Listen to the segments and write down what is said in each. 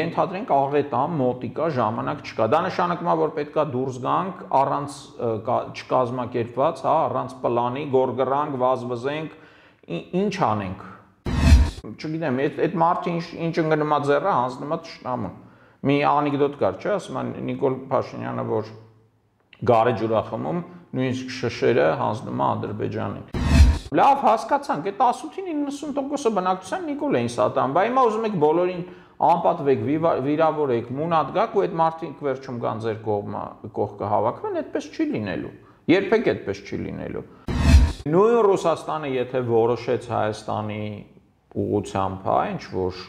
ենթադրենք աղետամ, մոտիկա, ժամանակ չկա։ Դա նշանակում է, որ պետք է դուրս գանք առանց չկազմակերպված, հա, առանց պլանի, գորգրանք, վազվզենք, ինչ անենք։ Չգիտեմ, այդ մարդը ինչ ընկնում է ձեռը, հանձնում է թշնամուն։ Մի անեկդոտ կար, չէ՞, ասում են Նիկոլ Փաշինյանը, որ գարեջուր է խմում, նույնիսկ շշերը հանձնում է Ադրբեջանին։ Լավ, հասկացանք, այդ 18-ին 90%-ը բնակչության Նիկոլ էին սատարում, բայց հիմա ուզում եք բոլորին անպատվեք, վիրավորեք, մունատ գաք ու այդ մարդիկ վերջում կան ձեր կողքը հավաքվեն, այդպես չի լինելու։ Երբեք այդպես չի լինելու։ Նույն Ռուսաստանը, եթե որոշեց Հայաստանի ուղղությամբ, հա, ինչ որ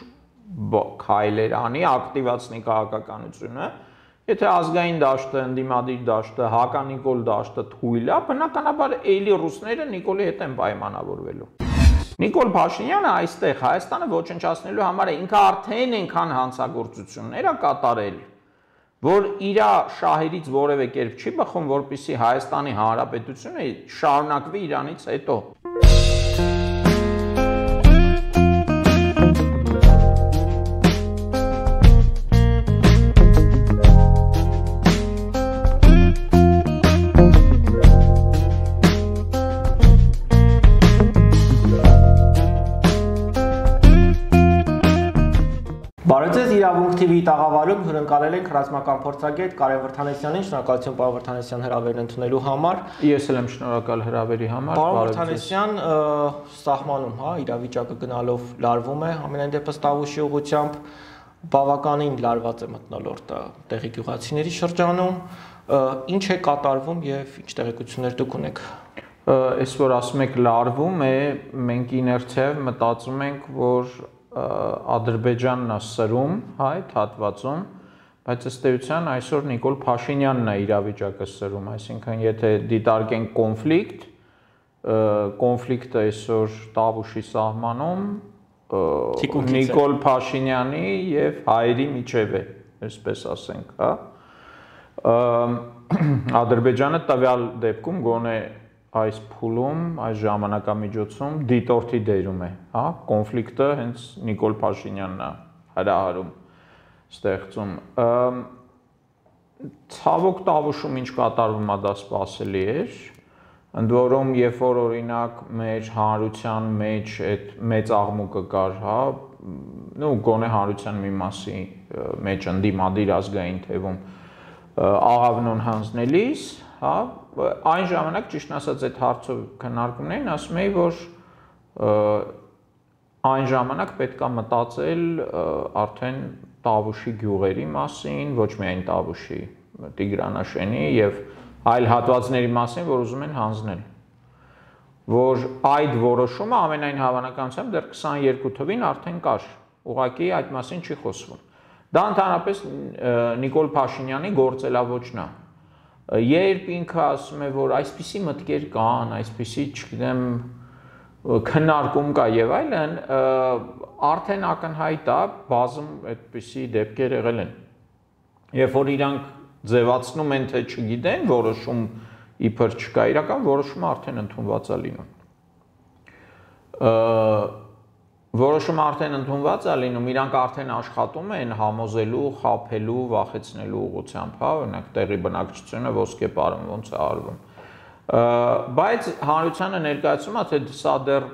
քայլեր անի, ակտիվացնի քաղաքականությունը, եթե ազգային դաշտը, ընդդիմադիր դաշտը, հականիկոլ դաշտը թույլ է, բնականաբար էլի ռուսները Նիկոլի հետ են պայմանավորվելու։ Նիկոլ Փաշինյանը այստեղ Հայաստանը ոչնչացնելու համար ինքը արդեն այնքան հանցագործություններ է կատարել, որ իր շահերից որևէ կերպ չի բխում, որպեսզի Հայաստանի Հանրապետությունը շարունակվի իրանից հետո։ Բարև իրավունք TV-ի տաղավարում հյուրընկալել ենք ռազմական փորձագետ Կարեն Վրդանեսյանին, շնորհակալություն պարոն Վրդանեսյան հրավերն ընդունելու համար։ Ես էլ եմ շնորհակալ հրավերի համար։ Պարոն Վրդանեսյան, սահմանում, հա, իրավիճակը գնալով լարվում է, ամենայն դեպս Տավուշի ուղղությամբ բավականին լարված է մթնոլորտը տեղի գյուղացիների շրջանում, ինչ է կատարվում եւ ինչ տեղեկություններ դուք ունեք։ Այս որ ասում եք լարվում է, մենք իներցիայով մտածում ենք, որ Ադրբեջանն է սրում, հա, այդ հատվածում, բայց ըստ էության այսօր Նիկոլ Փաշինյանն է իրավիճակը սրում, այսինքն եթե դիտարկենք կոնֆլիկտը այսօր Տավուշի սահմանում Նիկոլ Փաշինյանի եւ հայերի միջև է, այսպես ասենք, հա։ Ադրբեջանը տվյալ դեպքում գոնե այս փուլում, այս ժամանակամիջոցում դիտորդի դերում է, հա, կոնֆլիկտը հենց Նիկոլ Փաշինյանն է հրահարում, ստեղծում։ Ցավոք Տավուշում ինչ կատարվում է դա սպասելի էր, ընդ որում երբ որ օրինակ մեր հանրության մեջ այդ մեծ աղմուկը կար, հա, նո գոնե հանրության մի մասի մեջ ընդդիմադիր ազգային թևում աղավնոն հանձնելիս, հա, այն ժամանակ ճիշտ ասած այդ հարցով քննարկումներին ասում էի, որ այն ժամանակ պետք է մտածել արդեն Տավուշի գյուղերի մասին, ոչ միայն Տավուշի, Տիգրանաշենի եւ այլ հատվածների մասին, որ ուզում են հանձնել, որ այդ որոշումը ամենայն հավանականությամբ դեռ 22 թվին արդեն կար, ուղղակի այդ մասին չի խոսվում։ Դա ընդհանրապես Նիկոլ Փաշինյանի գործելավոճն է։ Երբ ինքը ասում է, որ այսպիսի մտքեր կան, այսպիսի, չգիտեմ, քննարկում կա եւ այլն, արդեն ակնհայտ է, բազում այդպիսի դեպքեր եղել են։ Երբ որ իրանք ձևացնում են, թե չգիտեն, որոշում իբր չկա, իրական որոշումը արդեն ընդունված է լինում։ Որոշումը արդեն ընդունված է լինում, իրանք արդեն աշխատում են համոզելու, խաբելու, վախեցնելու ուղղությամբ, հա, օրինակ տեղի բնակչությունը ոսկե պարում ոնց է արվում։ Բայց հանրությանը ներկայացում է, թե սա դեռ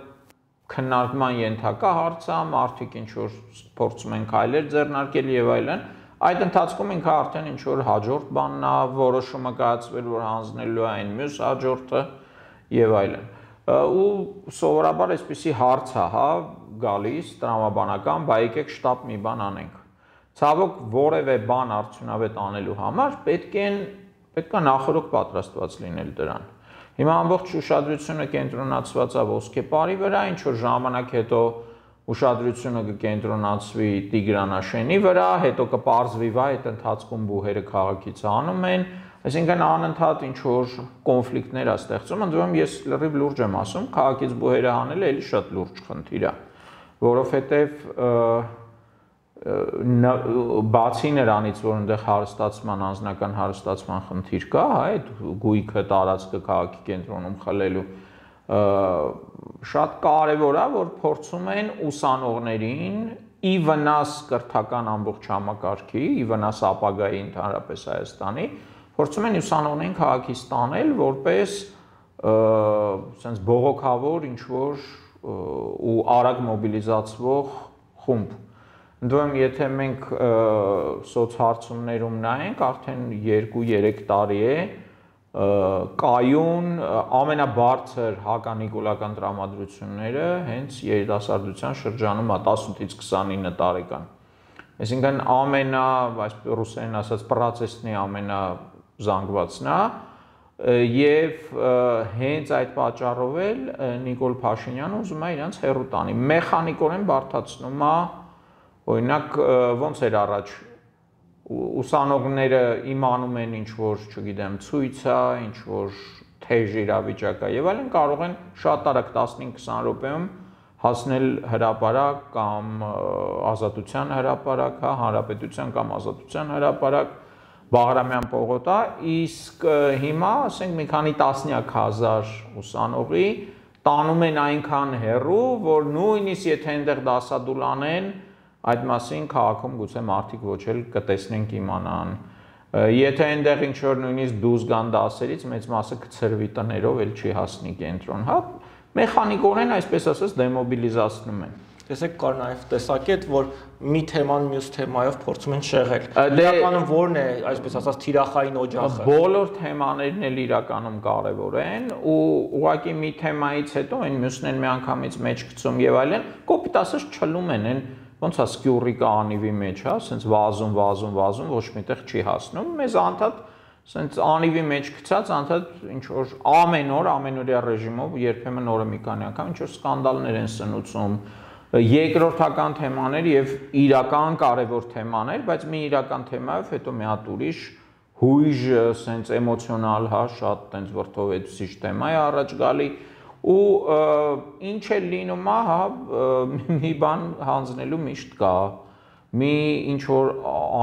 քննարկման ենթակա հարց է, մարդիկ ինչ որ փորձում են քայլեր ձեռնարկել եւ այլն, այդ ընթացքում ինքը արդեն ինչ որ հաջորդ բանն է, որոշումը կայացվել, որ հանձնելու է այն մյուս հաջորդը եւ այլն։ Ու սովորաբար այսպիսի հարց է, հա, գալիս տրամաբանական, բայ եկեք շտապ մի բան անենք։ Ցավոք որևէ բան արդյունավետ անելու համար պետք է նախորդ պատրաստված լինել դրան։ Հիմա ամբողջ ուշադրությունը կենտրոնացված է ոսկեպարի վրա, ինչ որ ժամանակ հետո ուշադրությունը կկենտրոնացվի Տիգրանաշենի վրա, հետո կպարզվի, վայ, այդ ընթացքում բուհերը քաղաքից հանում են, այսինքն անընդհատ ինչ որ կոնֆլիկտներ է ստեղծում, ընդ որում ես լրիվ լուրջ եմ ասում, քաղաքից բուհերը հանելը էլի շատ լուրջ խնդիր է, որովհետև բացի նրանից, որ այնտեղ հարստացման, անձնական հարստացման խնդիր կա, հա, այդ գույքը տարածքը քաղաքի կենտրոնում խլելու, շատ կարևոր է, որ փորձում են ուսանողներին ի վնաս կրթական ամբողջ համակարգի, ի վնաս ապագայի ընդհանրապես Հայաստանի, փորձում են ուսանողներին քաղաքից ստանել որպես sense բողոքավոր ինչ-որ ու արագ մոբիլիզացվող խումբ։ Ընդդեմ եթե մենք սոցհարցումներում նայենք, արդեն 2-3 տարի է կայուն ամենաբարձր հականիկոլական տրամադրությունները հենց երիտասարդության շրջանում է 18-ից 29 տարեկան։ Այսինքն այս ռուսերեն ասած պրոցեսնի ամենազանգվածն է եւ հենց այդ պատճառով էլ Նիկոլ Փաշինյանը ուզում է իրանց հեռու տանի։ Մեխանիկորեն բարդացնում է, օրինակ ոնց էր առաջ ուսանողները իմանում են ինչ որ, չգիտեմ, ցույց է, ինչ որ թեժ իրավիճակ է եւ այլն, կարող են շատ արագ 15-20 րոպեում հասնել հրապարակ կամ ազատության հրապարակ, հա, հանրապետության կամ ազատության հրապարակ, Բաղրամյան պողոտա, իսկ հիմա, ասենք, մի քանի տասնյակ հազար ուսանողի տանում են այնքան հեռու, որ նույնիսկ եթե այնտեղ դասադուլ անեն, այդ մասին քաղաքում գուցե մարդիկ ոչ էլ կտեսնեն կիմանան։ Եթե այնտեղ ինչ որ նույնիսկ դուրս գան դասերից, մեծ մասը կցրվի տներով, էլ չի հասնի կենտրոն, հա, մեխանիկորեն այսպես ասած դեմոբիլիզացնում են։ Տեսեք, կար նաև տեսակետ, որ մի թեման մյուս թեմայով փորձում են շեղել։ Իրականում ո՞րն է, այսպես ասած, թիրախային օջախը։ Բոլոր թեմաներն էլ իրականում կարևոր են ու ուղղակի մի թեմայից հետո այն մյուսն են միանգամից մեջ գցում եւ այլն, կոպիտ ասած չլում են, ոնց է սկյուռիկը անիվի մեջ, հա, ասենց վազում, ոչ միտեղ չի հասնում։ Մեզ անդադ ասենց անիվի մեջ գցած, անդադ ինչ որ ամենօրյա ռեժիմով երբեմն օրը մի քանի անգամ ինչ որ սկանդալներ են սնուցում, երկրորդական թեմաներ եւ իրական կարևոր թեմաներ, բայց մի իրական թեմայով հետո մի հատ ուրիշ հույժ, ասենց էմոցիոնալ, հա, շատ տենց վրդովեցուցիչ թեմա է առաջ գալի ու ինչ է լինում, հա, մի բան հանձնելու միշտ կա, մի ինչ որ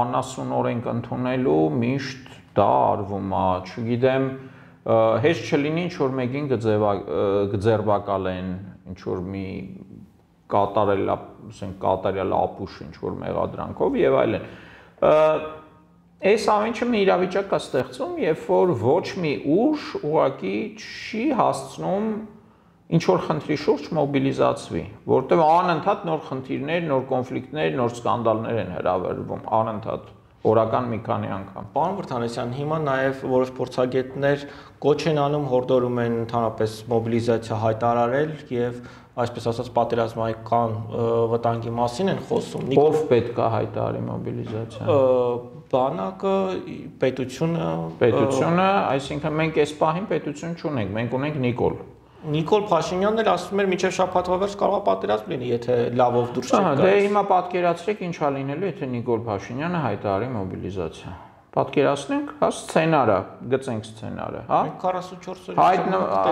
անասուն օրենք ընդունելու միշտ դա արվում է, չգիտեմ, հեշտ չլինի ինչ որ մեկին կձերբակալեն, ինչ որ մի կատարյալ ապուշ ինչ որ մեղադրանքով եւ այլն։ Այս ամենը մի իրավիճակ կա ստեղծում, երբ որ ոչ մի ուժ ուղղակի չի հասցնում ինչ որ խնդրի շուրջ մոբիլիզացվի, որտեղ անընդհատ նոր խնդիրներ, նոր կոնֆլիկտներ, նոր սկանդալներ են հրավիրվում, անընդհատ օրական մի քանի անգամ։ Պարոն Վրդանեսյան, հիմա նաև որոշ փորձագետներ կոչ են անում, հորդորում են ընդհանրապես մոբիլիզացիա հայտարարել եւ այսպես ասած պատերազմական վտանգի մասին են խոսում։ Ով պետք է հայտարարի մոբիլիզացիան։ Բանակը, պետությունը, այսինքն մենք այս պահին պետություն չունենք, մենք ունենք Նիկոլ Փաշինյանն էլ ասում էր մինչև շաբաթվա վերջ կարող է պատերազմ լինի, եթե լավով դուրս չգա։ Դե հիմա պատկերացրեք ինչ է լինելու, եթե Նիկոլ Փաշինյանը հայտարարի մոբիլիզացիա։ Պատկերացնենք, հա, սցենարը, գծենք սցենարը, հա։ 44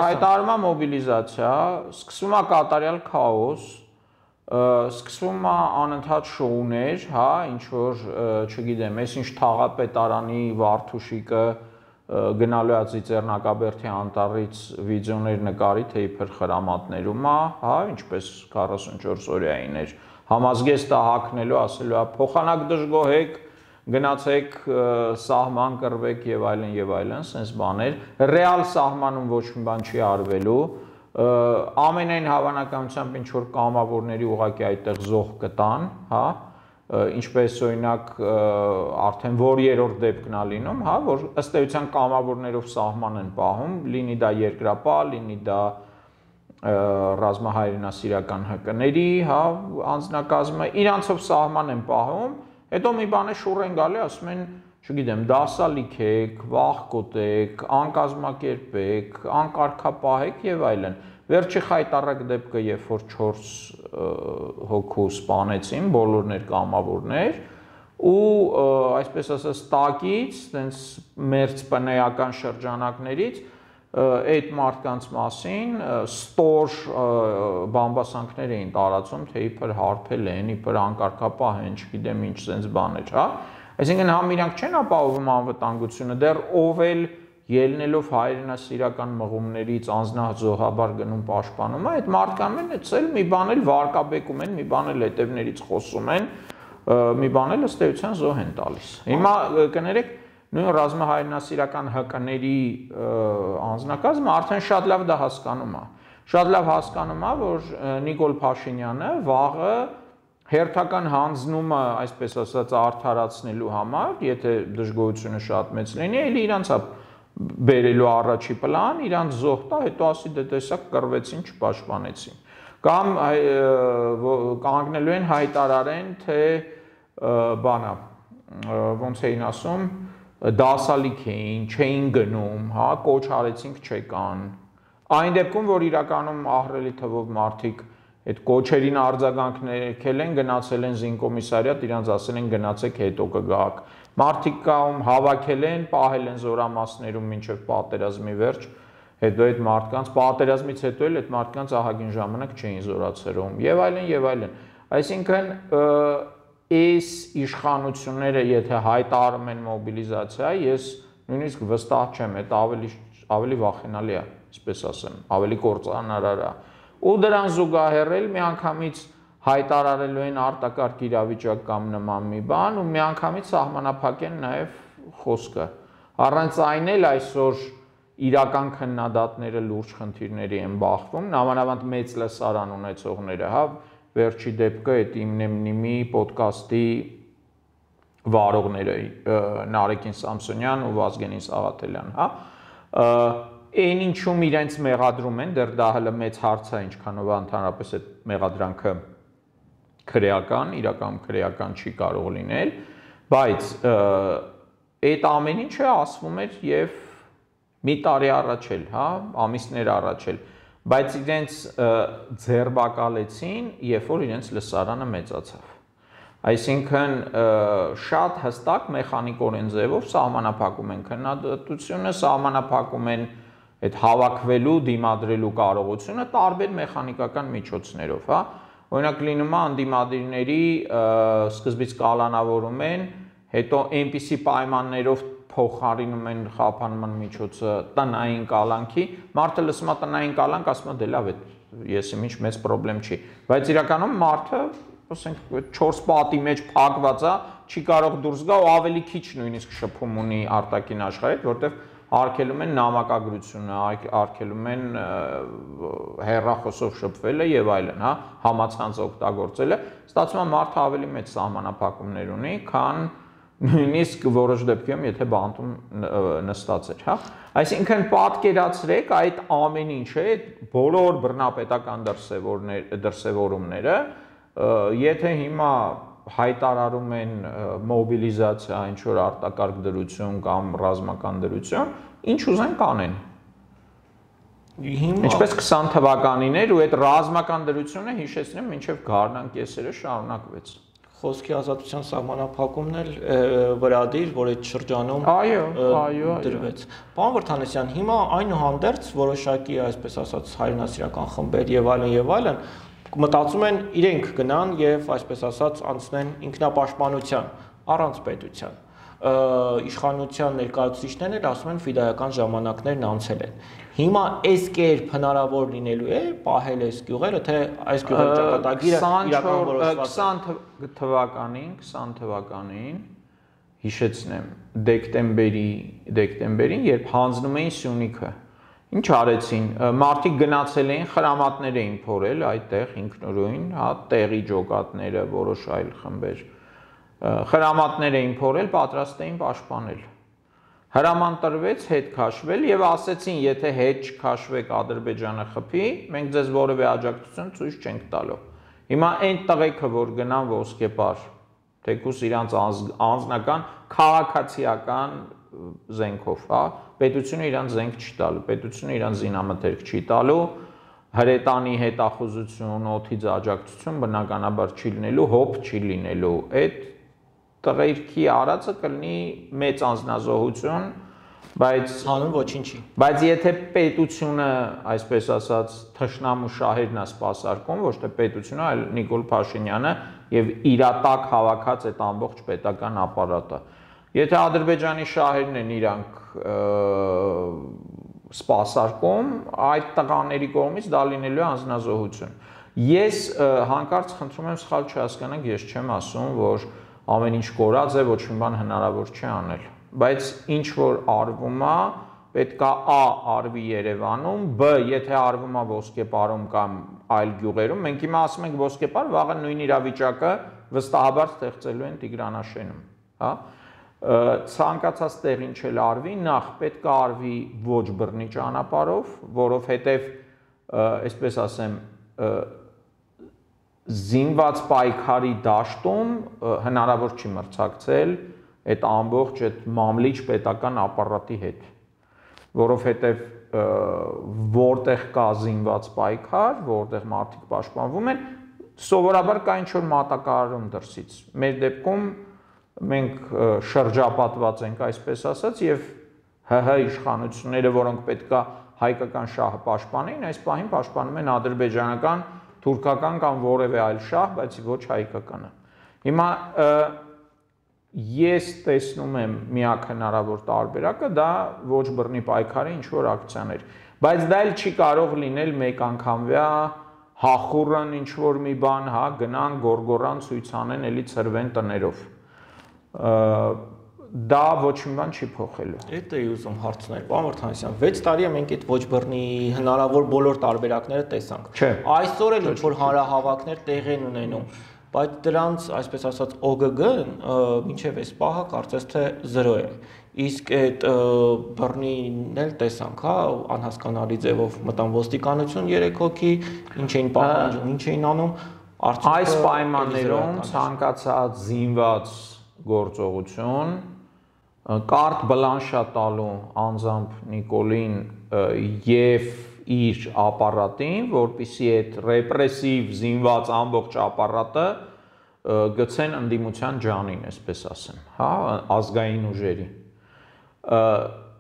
հայտարարում է մոբիլիզացիա, սկսվում է կատարյալ քաոս, սկսվում է անընդհատ շոուներ, հա, ինչ որ, չգիտեմ, այսինչ թաղապետարանի Վարդուշիկը գնալու է Ծիծեռնակաբերդի անտառից վիդեոներ նկարի, թե իբր խրամատներում է, հա, ինչպես 44 օրյային էր, համազգեստը հագնելու, ասելու է փոխանակ դժգոհեք, գնացեք սահման կռվեք եւ այլն, sense բաներ, ռեալ սահմանում ոչ մի բան չի արվելու, ամենայն հավանականությամբ ինչ որ կամավորների ուղղակի այդտեղ զոհ կտան, հա, ինչպես օրինակ արդեն որ երրորդ դեպքն է լինում, հա, որ ըստ էության կամավորներով սահման են պահում, լինի դա երկրապահ, լինի դա ռազմահայրենասիրական ՀԿ-ների, հա, անձնակազմը իրանցով սահման են պահում, հետո մի բան է շուռ են գալի, ասում են, չգիտեմ, դասալիքեք, վախկոտեք, անկազմակերպեք, անկարգապահեք եւ այլն։ Վերջի խայտառակ դեպքը, երբ որ 4 հոգու սպանեցին, բոլորներ կամավորներ, ու այսպես ասած տակից, տենց մերձ պնեական շրջանակներից այդ մարդկանց մասին ստոր բամբասանքներ էին տարածում, թե իբր հարբել են, իբր անկարգապահ են, չգիտեմ ինչ sense բաներ, հա։ Այսինքն համ իրանք չեն ապահովում անվտանգությունը, դեռ ով էլ ելնելով հայրենասիրական մղումներից անձնազոհաբար գնում պաշտպանում, այդ մարդկանց էլ մի բան էլ վարկաբեկում են, մի բան էլ հետևներից խոսում են, մի բան էլ ըստ էության զոհ են տալիս։ Հիմա կներեք, նույն ռազմահայրենասիրական ՀԿ-ների անձնակազմը արդեն շատ լավ դա հասկանում է։ Շատ լավ հասկանում է, որ Նիկոլ Փաշինյանը վաղը հերթական հանձնումը, այսպես ասած, արդարացնելու համար, եթե դժգոհությունը շատ մեծ լինի, էլի իրանց է բերելու առաջի պլան, իրանց զոհ տա, հետո ասի դե տեսակ կռվեցին, չպաշտպանեցին։ Կամ կանգնելու են հայտարարեն, թե բանա, ոնց էին ասում, դասալիք էին, չէին գնում, հա, կոչ արեցինք չեկան։ Այն դեպքում, որ իրականում ահռելի թվով մարդիկ այդ կոչերին արձագանքել են, գնացել են զինկոմիսարիատ, իրանց ասել են գնացեք հետո կգաք։ Մարդիկ կայում հավաքել են, պահել են զորամասներում մինչև պատերազմի վերջ, հետո այդ մարդկանց պատերազմից հետո էլ այդ մարդկանց ահագին ժամանակ չէին զորացրում, եւ այլն եւ այլն։ Այսինքն այս իշխանությունները եթե հայտարարում են մոբիլիզացիա, ես նույնիսկ վստահ չեմ, այդ ավելի վախենալի է, այսպես ասեմ, ավելի կործանարար է։ Ու դրան զուգահեռ էլ միանգամից հայտարարելու են արտակարգ իրավիճակ կամ նման մի բան ու միանգամից սահմանափակեն նաև խոսքը։ Առանց այն էլ այսօր իրական քննադատները լուրջ խնդիրների են բախվում, նամանավանդ մեծ լսարան ունեցողները, հա, վերջի դեպքը այդ իմնեմնիմի ոդկասթի վարողները Նարեկին Սամսոնյան ու Վազգենին Սաղաթելյան, հա, այն ինչում իրենց մեղադրում են, դեռ դա հələ մեծ հարց է, ինչքանով ընդհանրապես այդ մեղադրանքը քրեական, իրականում քրեական չի կարող լինել, բայց այդ ամեն ինչը ասվում էր եւ մի տարի առաջ էլ, հա, ամիսներ առաջ էլ, բայց իրենց ձերբակալեցին, երբ որ իրենց լսարանը մեծացավ։ Այսինքն շատ հստակ մեխանիկորեն ձևով սահմանափակում են քննադատությունը, սահմանափակում են այդ հավաքվելու, դիմադրելու կարողությունը տարբեր մեխանիկական միջոցներով, հա։ Օրինակ լինում է անդիմադիրների սկզբից կալանավորում են, հետո այնպիսի պայմաններով փոխարինում են խափանման միջոցը տնային կալանքի, մարդը լսում է տնային կալանք, ասում է դե լավ է, ես ինչ մեծ խնդրեմ չի, բայց իրականում մարդը, ասենք 4 պատի մեջ փակված է, չի կարող դուրս գա ու ավելի քիչ նույնիսկ շփում ունի արտաքին աշխարհից, որտեվ արգելում են նամակագրությունը, արգելում են հեռախոսով շփվելը եւ այլն, հա, համացանց օգտագործելը, ստացվում է մարդը ավելի մեծ սահմանափակումներ ունի, քան նույնիսկ որոշ դեպքերում, եթե բանտում նստած էր, հա։ Այսինքն պատկերացրեք այդ ամեն ինչը, այդ բոլոր բռնապետական դրսևորումները, եթե հիմա հայտարարում են մոբիլիզացիա, ինչ որ արտակարգ դրություն կամ ռազմական դրություն, ինչ ուզեն կանեն։ Ինչպես 20 թվականին էր ու այդ ռազմական դրությունը հիշեցնեմ մինչև գարնան կեսերը շարունակվեց։ Խոսքի ազատության սահմանափակումն էլ վրադիր, որ այդ շրջանում դրվեց։ Պարոն Վրդանեսյան, հիմա այնուհանդերձ որոշակի, այսպես ասած, հայրենասիրական խմբեր եւ այլն մտածում են իրենք գնան եւ այսպես ասած անցնեն ինքնապաշտպանության առանց պետության։ Իշխանության ներկայացուցիչներն էլ ասում են ֆիդայական ժամանակներն անցել են։ Հիմա այս կերպ հնարավոր լինելու է պահել այս գյուղերը, թե այս գյուղերի ճակատագիրը իրական որոշված 20 թվականին հիշեցնեմ դեկտեմբերին, երբ հանձնում էին Սյունիքը, ինչ արեցին, մարդիկ գնացել էին, խրամատներ էին փորել այդտեղ ինքնուրույն, հա, տեղի ջոկատները, որոշ այլ խմբեր, խրամատներ էին փորել, պատրաստ էին պաշտպանել։ Հրաման տրվեց հետ քաշվել եւ ասեցին, եթե հետ չքաշվեք Ադրբեջանը խփի, մենք ձեզ որևէ աջակցություն ցույց չենք տալու։ Հիմա այն տղեկը, որ գնան ոսկեպար, թեկուս իրանց անձնական քաղաքացիական զենքով, հա, պետությունը իրանց զենք չի տալու, պետությունը իրանց զինամթերք չի տալու, հրետանի հետախուզություն, օդից աջակցություն բնականաբար չի լինելու, հոբ չի լինելու։ Այդ տղերքի արածը կլինի մեծ անձնազոհություն, բայց հանուն ոչինչի։ Բայց եթե պետությունը, այսպես ասած, թշնամու շահերն է սպասարկում, ոչ թե պետությունը, այլ Նիկոլ Փաշինյանը եւ իր տակ հավաքած այդ ամբողջ պետական ապարատը։ Եթե Ադրբեջանի շահերն են իրանք սպասարկում, այդ տղաների կողմից դա լինելու է անձնազոհություն։ Ես հանկարծ խնդրում եմ սխալ չհասկանանք, ես չեմ ասում, որ ամեն ինչ կորած է, ոչ մի բան հնարավոր չի անել, բայց ինչ որ արվում է, պետք է A արվի Երևանում, B եթե արվում է Ոսկեպարում կամ այլ գյուղերում, մենք հիմա ասում ենք Ոսկեպար, վաղը նույն իրավիճակը վստահաբար ստեղծելու են Տիգրանաշենում, հա։ Ցանկացած տեղին չել արվի, նախ պետք է արվի ոչ բռնի ճանապարհով, որովհետև, այսպես ասեմ, զինված պայքարի դաշտում հնարավոր չի մրցակցել այդ ամբողջ այդ մամլիչ պետական ապարատի հետ, որովհետև որտեղ կա զինված պայքար, որտեղ մարդիկ պաշտպանվում են, սովորաբար կա ինչ-որ մատակարարում դրսից։ Մեր դեպքում մենք շրջապատված ենք, այսպես ասած, եւ ՀՀ իշխանությունները, որոնք պետքա հայկական շահը պաշտպանեին, այս պահին պաշտպանում են ադրբեջանական, թուրքական կամ որևէ այլ շահ, բայց ոչ հայկականը։ Հիմա ես տեսնում եմ միակ հնարավոր տարբերակը դա ոչ բռնի պայքարի ինչ որ ակցիաներ, բայց դա էլ չի կարող լինել մեկ անգամվա հախուռն ինչ որ մի բան, հա, գնան գորգորան ցույց անեն, էլի ծրվեն տներով։ Դա ոչ մի բան չի փոխելու։ Էդ էի ուզում հարցնել, պարոն Վարդանանյան, 6 տարի է մենք այդ ոչ բռնի հնարավոր բոլոր տարբերակները տեսանք։ Այսօր էլ ինչ որ հանրահավաքներ տեղի են ունենում, բայց դրանց, այսպես ասած, ՕԳԳ-ն մինչև այս պահը կարծես թե 0 է։ Իսկ այդ բռնին էլ տեսանք, հա, անհասկանալի ձևով մտան ոստիկանություն 3 հոգի, ինչ էին պահանջում, ինչ էին անում, այս պայմաններում ցանկացած զինված գործողություն կարտ բլանշա տալու անձամբ Նիկոլին եւ իր ապարատին, որպեսզի այդ ռեպրեսիվ զինված ամբողջ ապարատը գցեն ընդդիմության ջանին, այսպես ասեմ, հա, ազգային ուժերի։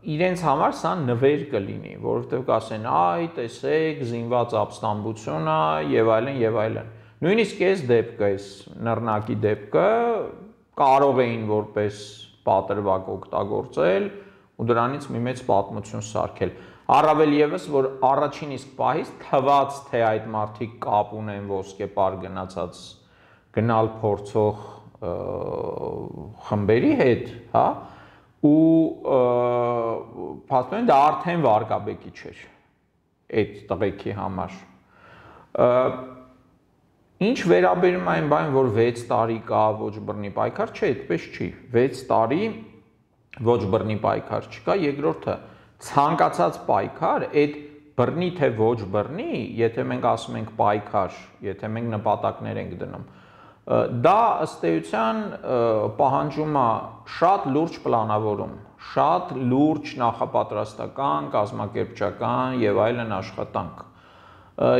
Իրենց համար սա նվեր կլինի, որովհետեւ կասեն, այ տեսեք, զինված ապստամբություն է եւ այլն եւ այլն։ Նույնիսկ այս դեպքը, այս նռնակի դեպքը կարող էին որպես պատրվակ օգտագործել ու դրանից մի մեծ պատմություն սարքել։ Առավել եւս, որ առաջին իսկ պահից թված, թե այդ մարդիկ կապ ունեն ոսկեպար գնացած գնալ փորձող խմբերի հետ, հա, ու փաստորեն դա արդեն վարկաբեկի չէր այդ տղեկի համար։ Ինչ վերաբերում այն բան, որ 6 տարի կա ոչ բռնի պայքար, չէ, այդպես չի։ 6 տարի ոչ բռնի պայքար չկա, երկրորդը ցանկացած պայքար, այդ բռնի թե ոչ բռնի, եթե մենք ասում ենք պայքար, եթե մենք նպատակներ ենք դնում, դա ըստ էության պահանջում է շատ լուրջ պլանավորում, շատ լուրջ նախապատրաստական, կազմակերպչական եւ այլն աշխատանք։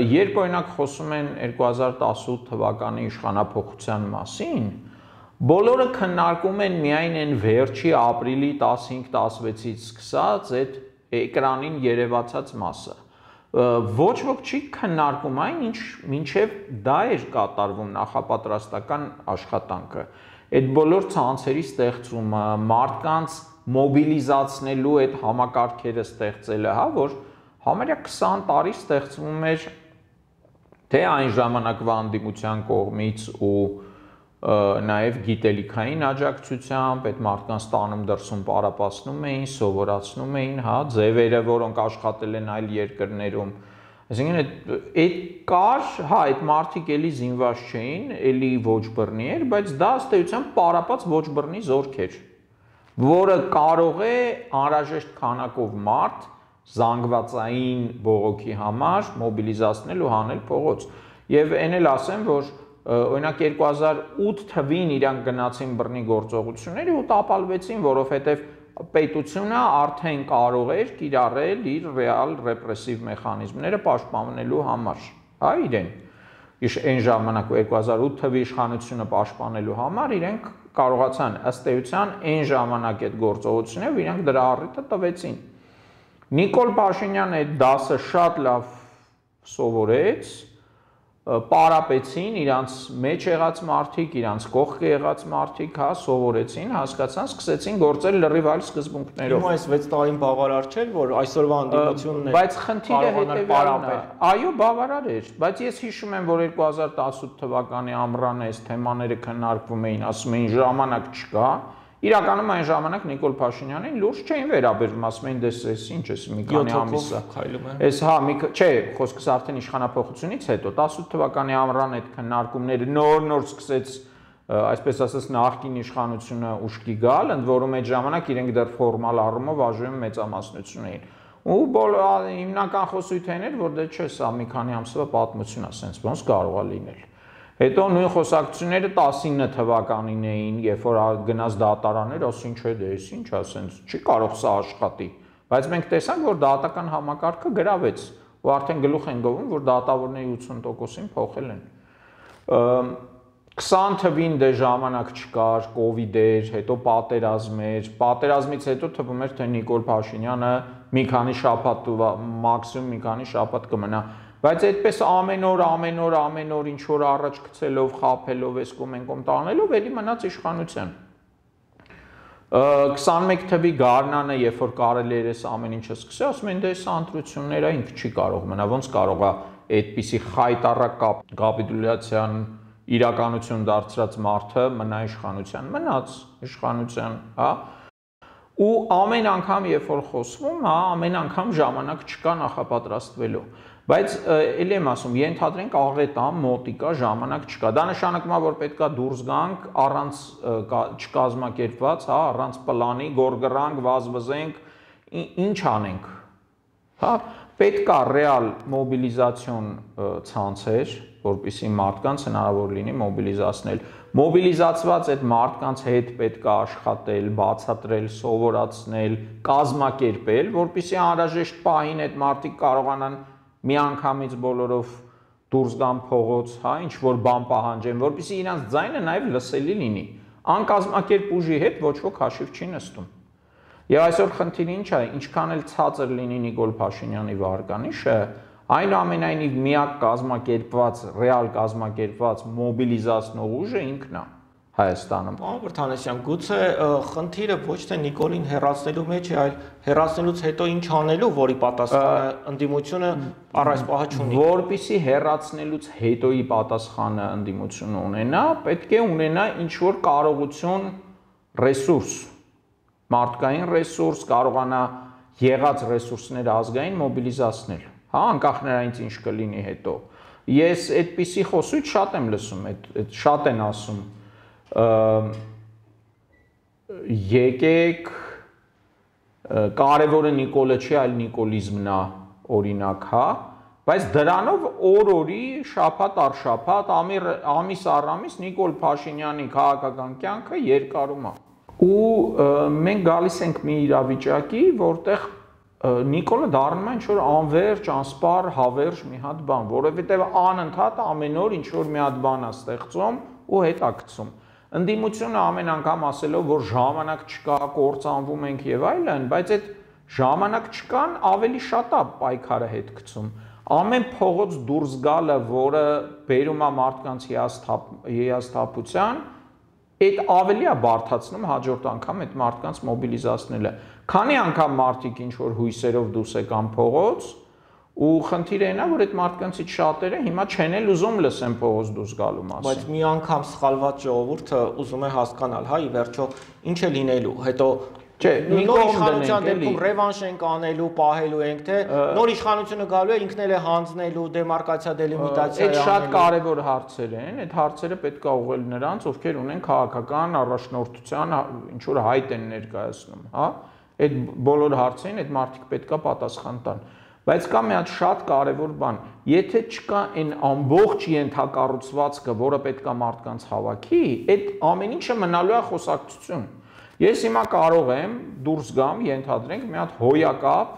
Երբ օրինակ խոսում են 2018 թվականի իշխանափոխության մասին, բոլորը քննարկում են միայն այն վերջի ապրիլի 15-16-ից սկսած այդ էկրանին երևացած մասը։ Ոչ ոք չի քննարկում այն, ինչ մինչև դա էր կատարվում նախապատրաստական աշխատանքը։ Այդ բոլոր ցանցերի ստեղծումը, մարդկանց մոբիլիզացնելու այդ համակարգերը ստեղծելը, հա, որ համարյա 20 տարի ստեղծվում էր թե այն ժամանակվա անդիմության կողմից ու նաև գիտելիքային աջակցությամբ այդ մարդկանց տանում դրսում պարապացնում էին, սովորացնում էին, հա, ձևերը, որոնք աշխատել են այլ երկրներում։ Այսինքն այդ կար, հա, այդ մարդիկ էլի զինված չէին, էլի ոչ բռնի էր, բայց դա ըստ էության պարապած ոչ բռնի զորք էր, որը կարող է անհրաժեշտ քանակով մարդ զանգվածային բողոքի համար մոբիլիզացնել ու հանել փողոց։ Եվ այն էլ ասեմ, որ օրինակ 2008 թվին իրանք գնացին բռնի գործողությունների ու տապալվեցին, որովհետև պետությունը արդեն կարող էր կիրառել իր ռեալ ռեպրեսիվ մեխանիզմները պաշտպանելու համար, հա, իրեն։ Այն ժամանակ 2008 թվի իշխանությունը պաշտպանելու համար իրենք կարողացան ըստ էության այն ժամանակ այդ գործողությունները իրենք դրա առիթը տվեցին։ Նիկոլ Փաշինյանը այդ դասը շատ լավ սովորեց, պարապեցին իրանց մեջ եղած մարդիկ, իրանց կողքը եղած մարդիկ, հա, սովորեցին, հասկացան, սկսեցին գործել լրիվ այլ սկզբունքներով։ Հիմա այս 6 տարին բավարար չէ, որ այսօրվա ընդդիմությունն է։ Բայց խնդիրը հետևյալն է։ Այո, բավարար էր, բայց ես հիշում եմ, որ 2018 թվականի ամռանը այս թեմաները քննարկվում էին, ասում էին ժամանակ չկա։ Իրականում այն ժամանակ Նիկոլ Փաշինյանին լուրջ չէին վերաբերվում, ասում էին դες էս ինչ էս մի քանի ամիս է։ Էս հա, չէ, խոսքս արդեն իշխանապողությունից հետո 18 թվականի ամռան այդ քննարկումները նոր սկսեց, այսպես ասած, նախկին իշխանությունը ուշքի գալ, ընդ որում այդ ժամանակ իրենք դեռ ֆորմալ առումով ԱԺ-ի մեծամասնություն էին։ Ու հիմնական խոսույթն էր, որ դե չէ, սա մի քանի ամսվա պատմություն է, ասենց ոնց կարող է լինել։ Հետո նույն խոսակցությունները 19 թվականին էին, երբ որ գնաց դատարաններ, ասին չէ, դե էս ինչ ասենց, չի կարող սա աշխատի։ Բայց մենք տեսանք, որ դատական համակարգը գրավեց, ու արդեն գլուխ են գովում, որ դատավորների 80%-ին փոխել են։ 20 թվին դե ժամանակ չկար, կովիդ էր, հետո պատերազմ էր, պատերազմից հետո թվում էր, թե Նիկոլ Փաշինյանը մի քանի շաբաթ, մաքսիմում մի քանի շաբաթ կմնա։ Բայց այդպես ամեն օր ինչ որ առաջ գցելով, խաբելով, այս կոմ տանելով, էլի մնաց իշխանության։ 21 թվի գարնանը, երբ որ կարելի էր այս ամեն ինչը սկսել, ասում են դե այս ընտրությունները ինքը չի կարող մնա, ոնց կարող է այդպիսի խայտառակ կապիտուլյացիան իրականություն դարձրած մարդը մնա իշխանության, մնաց իշխանության, հա։ Ու ամեն անգամ, երբ որ խոսվում, հա, ամեն անգամ ժամանակ չկա նախապատրաստվելու։ Բայց էլի եմ ասում, ենթադրենք աղետամ, մոտիկա, ժամանակ չկա։ Դա նշանակում է, որ պետքա դուրս գանք առանց չկազմակերպված, հա, առանց պլանի, գորգրանք, վազվզենք, ինչ անենք։ Հա, պետքա ռեալ մոբիլիզացիոն ցանցեր, որպեսզի մարդկանց հնարավոր լինի մոբիլիզացնել։ Մոբիլիզացված այդ մարդկանց հետ պետքա աշխատել, բացատրել, սովորացնել, կազմակերպել, որպեսզի անհրաժեշտ պահին այդ մարդիկ կարողանան միանգամից բոլորով դուրս գան փողոց, հա, ինչ որ բան պահանջեն, որպեսզի իրանց ձայնը նաև լսելի լինի։ Անկազմակերպ ուժի հետ ոչ ոք հաշիվ չի նստում։ Եվ այսօր խնդիրը ինչ է, ինչքան էլ ցածր լինի Նիկոլ Փաշինյանի վարկանիշը, այնուամենայնիվ միակ կազմակերպված, ռեալ կազմակերպված մոբիլիզացնող ուժը ինքն է Հայաստանում։ Պարոն Վրդանեսյան, գուցե խնդիրը ոչ թե Նիկոլին հեռացնելու մեջ է, այլ հեռացնելուց հետո ինչ անելու, որի պատասխանը ընդդիմությունը առ այս պահը չունի։ Որպեսզի հեռացնելուց հետոյի պատասխանը ընդդիմությունը ունենա, պետք է ունենա ինչ-որ կարողություն, ռեսուրս, մարդկային ռեսուրս, կարողանա եղած ռեսուրսները ազգային մոբիլիզացնել, հա, անկախ նրանից ինչ կլինի հետո։ Ես այդպիսի խոսույթ շատ եմ լսում, շատ են ասում, եկեք, կարևորը Նիկոլը չի, այլ նիկոլիզմն է, օրինակ, հա, բայց դրանով օր-օրի, շաբաթ առ շաբաթ, ամիս առ ամիս Նիկոլ Փաշինյանի քաղաքական կյանքը երկարում է։ Ու մենք գալիս ենք մի իրավիճակի, որտեղ Նիկոլը դառնում է ինչ-որ անվերջ, անսպառ, հավերժ մի հատ բան, որովհետև անընդհատ ամեն օր ինչ-որ մի հատ բան է ստեղծում ու հետաքրքրում։ Ընդդիմությունը ամեն անգամ ասելով, որ ժամանակ չկա, կործանվում ենք եւ այլն, բայց այդ ժամանակ չկան ավելի շատ է պայքարը հետ գցում։ Ամեն փողոց դուրս գալը, որը բերում է մարդկանց հիասթափության, այդ ավելի է բարդացնում հաջորդ անգամ այդ մարդկանց մոբիլիզացնելը։ Քանի անգամ մարդիկ ինչ որ հույսերով դուրս եկան փողոց, ու խնդիրը այն է, որ այդ մարդկանցից շատերը հիմա չեն էլ ուզում լսեն փողոց դուրս գալու մասին։ Բայց մի անգամ սխալված ժողովուրդը ուզում է հասկանալ, հա, ի վերջո ինչ է լինելու, հետո չէ, մի կողմ իշխանության դեպքում ռևանշ ենք անելու, պահելու ենք, թե նոր իշխանությունը գալու է ինքն էլ է հանձնելու, դեմարկացիա, դելիմիտացիա անելու։ Այդ շատ կարևոր հարցեր են, այդ հարցերը պետք է ուղղել նրանց, ովքեր ունեն քաղաքական առաջնորդության ինչ որ հայտ են ներկայացնում, հա։ Այդ բոլոր հարցերին այդ մարդիկ պետք է պատասխան տան։ Բայց կա մի հատ շատ կարևոր բան, եթե չկա այն ամբողջ ենթակառուցվածքը, որը պետք է մարդկանց հավաքի, այդ ամեն ինչը մնալու է խոսակցություն։ Ես հիմա կարող եմ դուրս գամ, ենթադրենք մի հատ հոյակապ,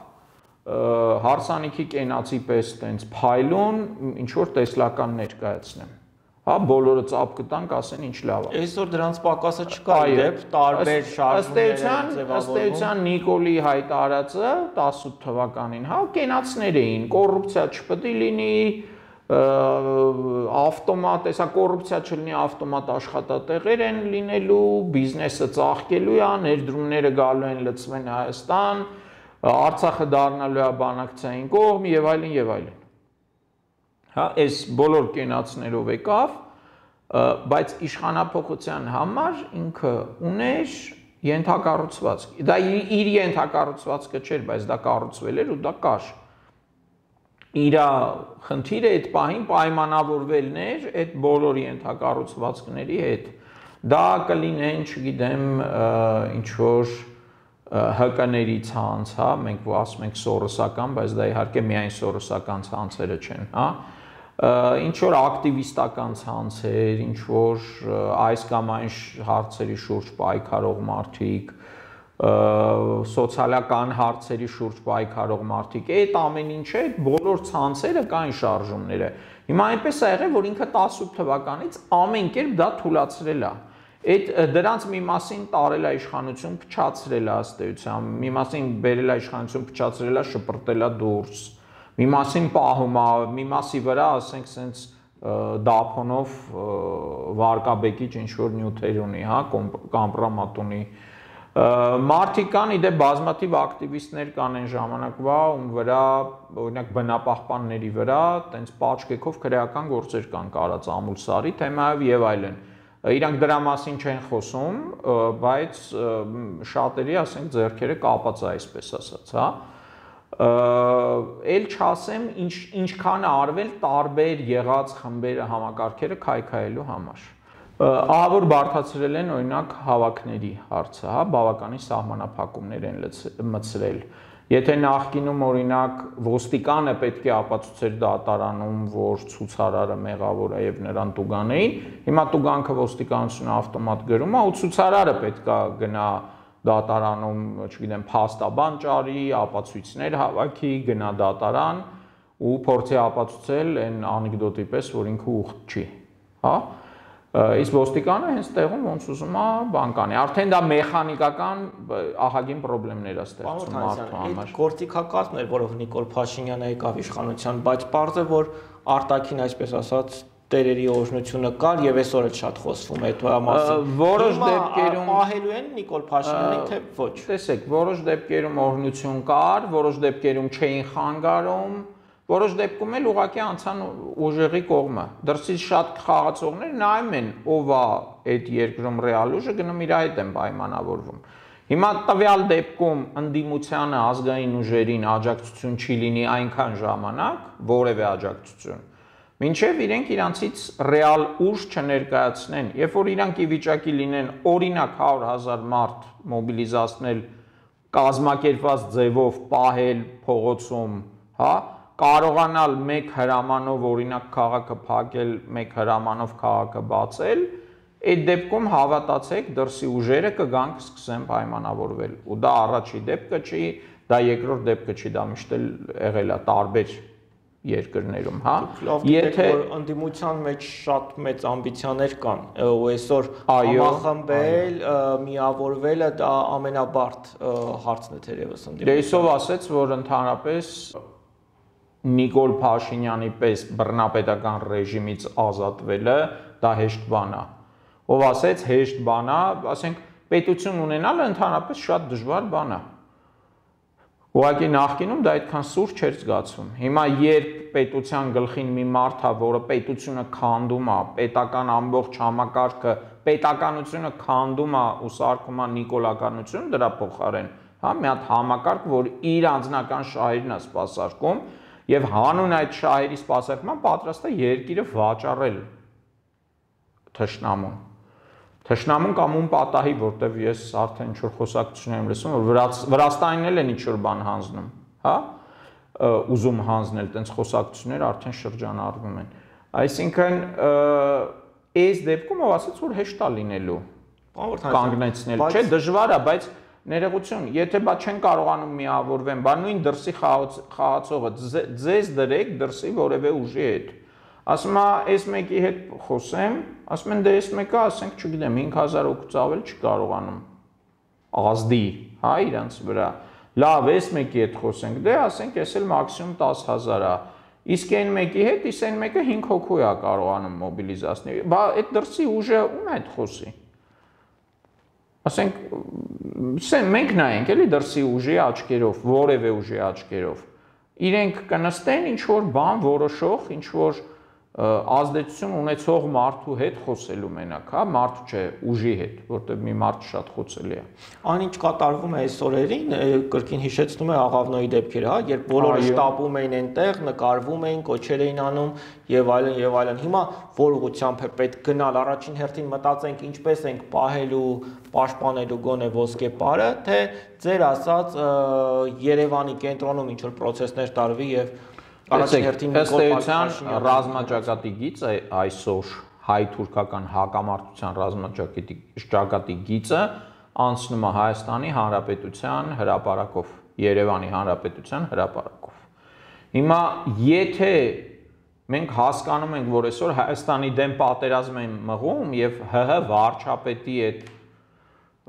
հարսանիքի կենացի պես տենց փայլուն, ինչ որ տեսլական ներկայացնեմ։ Հա, բոլորը ծափ կտանք, ասեն ինչ լավ է։ Այսօր դրանց պակասը չկա, իդեպ տարբեր շարժումներ ըստ էության Նիկոլի հայտարարածը 18 թվականին, հա, կենացներ էին, կոռուպցիա չպետք է լինի, ավտոմատ, հեսա կոռուպցիա չլինի, ավտոմատ աշխատատեղեր են լինելու, բիզնեսը ծաղկելու է, ներդրումները գալու են լցվեն Հայաստան, Արցախը դառնալու է բանակցային կողմ եւ այլն եւ այլն։ Հա, այս բոլոր կենացներով եկավ, բայց իշխանափոխության համար ինքը ուներ ենթակառուցվածք։ Դա իր ենթակառուցվածքը չէր, բայց դա կառուցվել էր ու դա կար։ Իր խնդիրը այդ պահին պայմանավորվելն էր այդ բոլոր ենթակառուցվածքների հետ։ Դա կլինեն, չգիտեմ, ինչ որ ՀԿ-ների ցանց, հա, մենք ասում ենք սորոսական, բայց դա իհարկե միայն սորոսական ցանցերը չեն, հա։ Ինչ որ ակտիվիստական ցանցեր, ինչ որ այս կամ այն հարցերի շուրջ պայքարող մարդիկ, սոցիալական հարցերի շուրջ պայքարող մարդիկ, այդ ամեն ինչը, այդ բոլոր ցանցերը կային շարժումները։ Հիմա այնպես է եղել, որ ինքը 18 թվականից ամեն կերպ դա թույլատրել է։ Այդ դրանց մի մասին տարել է իշխանություն, փչացրել է ըստ էության, մի մասին բերել է իշխանություն, փչացրել է, շպրտել է դուրս, մի մասին պահում է, մի մասի վրա, ասենք, սենց դափոնով վարկաբեկիչ ինչ որ նյութեր ունի, հա, կամպրամատ ունի։ Մարդիկ կան, իդե բազմաթիվ ակտիվիստներ կան այն ժամանակվա, ում վրա, օրինակ բնապահպանների վրա, տենց պաչկեքով քրեական գործեր կան կարած ամուլսարի թեմայով եւ այլն։ Իրանք դրա մասին չեն խոսում, բայց շատերի, ասենք, ձեռքերը կապած է, այսպես ասած, հա։ Էլ չասեմ, ինչքան արվել տարբեր եղած խմբերը համակարգերը քայքայելու համար։ Ահա որ բարդացրել են օրինակ հավաքների հարցը, հա, բավականին սահմանափակումներ են մտցրել։ Եթե նախկինում օրինակ ոստիկանը պետք է ապացուցեր դատարանում, որ ցուցարարը մեղավոր է եւ նրան տուգանեին, հիմա տուգանքը ոստիկանությունը ավտոմատ գրում է ու ցուցարարը պետք է գնա դատարանում, չգիտեմ, փաստաբան ճարի, ապացույցներ հավաքի, գնա դատարան ու փորձի ապացուցել այն անեկդոտի պես, որ ինքը ուխտ չի, հա։ Իսկ ոստիկանը հենց տեղում ոնց ուզում է բան կանի։ Արդեն դա մեխանիկական ահագին խնդիրներ է ստեղծում մարդու համար։ Այդ գործիքակազմն էր, որով Նիկոլ Փաշինյանը եկավ իշխանության, բայց պարզ է, որ արտաքին, այսպես ասած, տերերի օրհնությունը կար եւ այսօր էլ շատ խոսվում է այդ մասին։ Որոշ դեպքերում պահելու են Նիկոլ Փաշինյանին, թե ոչ։ Տեսեք, որոշ դեպքերում օրհնություն կար, որոշ դեպքերում չէին խանգարում, որոշ դեպքում էլ ուղղակի անցան ուժերի կողմը։ Դրսից շատ խաղացողներ նայում են, ով է այդ երկրում ռեալ ուժը, գնում իր հետ են պայմանավորվում։ Հիմա տվյալ դեպքում ընդդիմությանը ազգային ուժերին աջակցություն չի լինի այնքան ժամանակ, որևէ աջակցություն, մինչև իրենք իրանցից ռեալ ուժ չներկայացնեն, երբ որ իրանք ի վիճակի լինեն օրինակ 100,000 մարդ մոբիլիզացնել կազմակերպված ձևով պահել փողոցում, հա, կարողանալ մեկ հրամանով օրինակ քաղաքը փակել, մեկ հրամանով քաղաքը բացել, այդ դեպքում հավատացեք, դրսի ուժերը կգան կսկսեն պայմանավորվել։ Ու դա առաջի դեպքը չի, դա երկրորդ դեպքը չի, դա միշտ էլ եղել է տարբեր երկրներում, հա։ Եթե ընդդիմության մեջ շատ մեծ ամբիցիաներ կան, ու այսօր համախմբել, միավորվելը դա ամենաբարդ հարցն է թերևս ընդդիմության։ Դեսով ասեց, որ ընդհանրապես Նիկոլ Փաշինյանի պես բռնապետական ռեժիմից ազատվելը դա հեշտ բան է։ Ով ասեց հեշտ բան է, ասենք պետություն ունենալը ընդհանրապես շատ դժվար բան է։ Ուղղակի նախկինում դա այդքան սուր չէր զգացվում։ Հիմա երբ պետության գլխին մի մարդ է, որը պետությունը քանդում է, պետական ամբողջ համակարգը, պետականությունը քանդում է ու սարքում է նիկոլականություն դրա փոխարեն, հա, մի հատ համակարգ, որ իր անձնական շահերն է սպասարկում եւ հանուն այդ շահերի սպասարկման պատրաստ է երկիրը վաճառել թշնամուն։ Թշնամուն կամ ում պատահի, որտեվ ես արդեն ինչ-որ խոսակցություն եմ լսում, որ Վրաստանին էլ են ինչ-որ բան հանձնում, հա, ուզում հանձնել, տենց խոսակցություններ արդեն շրջանառվում են։ Այսինքն, այս դեպքում ով ասաց, որ հեշտ է լինելու կանգնեցնել, չէ, դժվար է, բայց ներողություն, եթե բա չեն կարողանում միավորվեն, բա նույն դրսի խաղացողը ձեզ դրեք դրսի որևէ ուժի հետ։ Ասում է, այս մեկի հետ խոսեմ, ասում են, դե այս մեկը, ասենք, չգիտեմ, 5000 հոգուց ավել չի կարողանում ազդի, հա, իրանց վրա։ Լավ, այս մեկի հետ խոսենք, դե ասենք, ես էլ մաքսիմում 10,000 է։ Իսկ այն մեկի հետ, իսկ այն մեկը 5 հոգու է կարողանում մոբիլիզացնել։ Բա այդ դրսի ուժը ում է այդ խոսի։ Ասենք մենք նայենք էլի դրսի ուժի աչքերով, որևէ ուժի աչքերով։ Իրենք կնստեն ինչ որ բան որոշող, ինչ որ ազդեցություն ունեցող մարդու հետ խոսելու մենակ, հա, մարդու չէ, ուժի հետ, որտեղ մի մարդ շատ խոցելի է։ Այնինչ կատարվում է այս օրերին, կրկին հիշեցնում է Աղավնոյի դեպքերը, հա, երբ բոլորը շտապում էին այնտեղ, նկարվում էին, կոչեր էին անում եւ այլն եւ այլն։ Հիմա որ ուղղությամբ է պետք գնալ, առաջին հերթին մտածենք ինչպես ենք պահելու, պաշտպանելու գոնե ոսկե պարը, թե ձեր ասած Երևանի կենտրոնում ինչ որ process-ներ տարվի եւ առաջին հերթին ըստ էության ռազմաճակատի գիծը այսօր հայ-թուրքական հակամարտության ռազմաճակատի գիծը անցնում է Հայաստանի Հանրապետության հրապարակով, Երևանի Հանրապետության հրապարակով։ Հիմա եթե մենք հասկանում ենք, որ այսօր Հայաստանի դեմ պատերազմ են մղում եւ ՀՀ վարչապետի այդ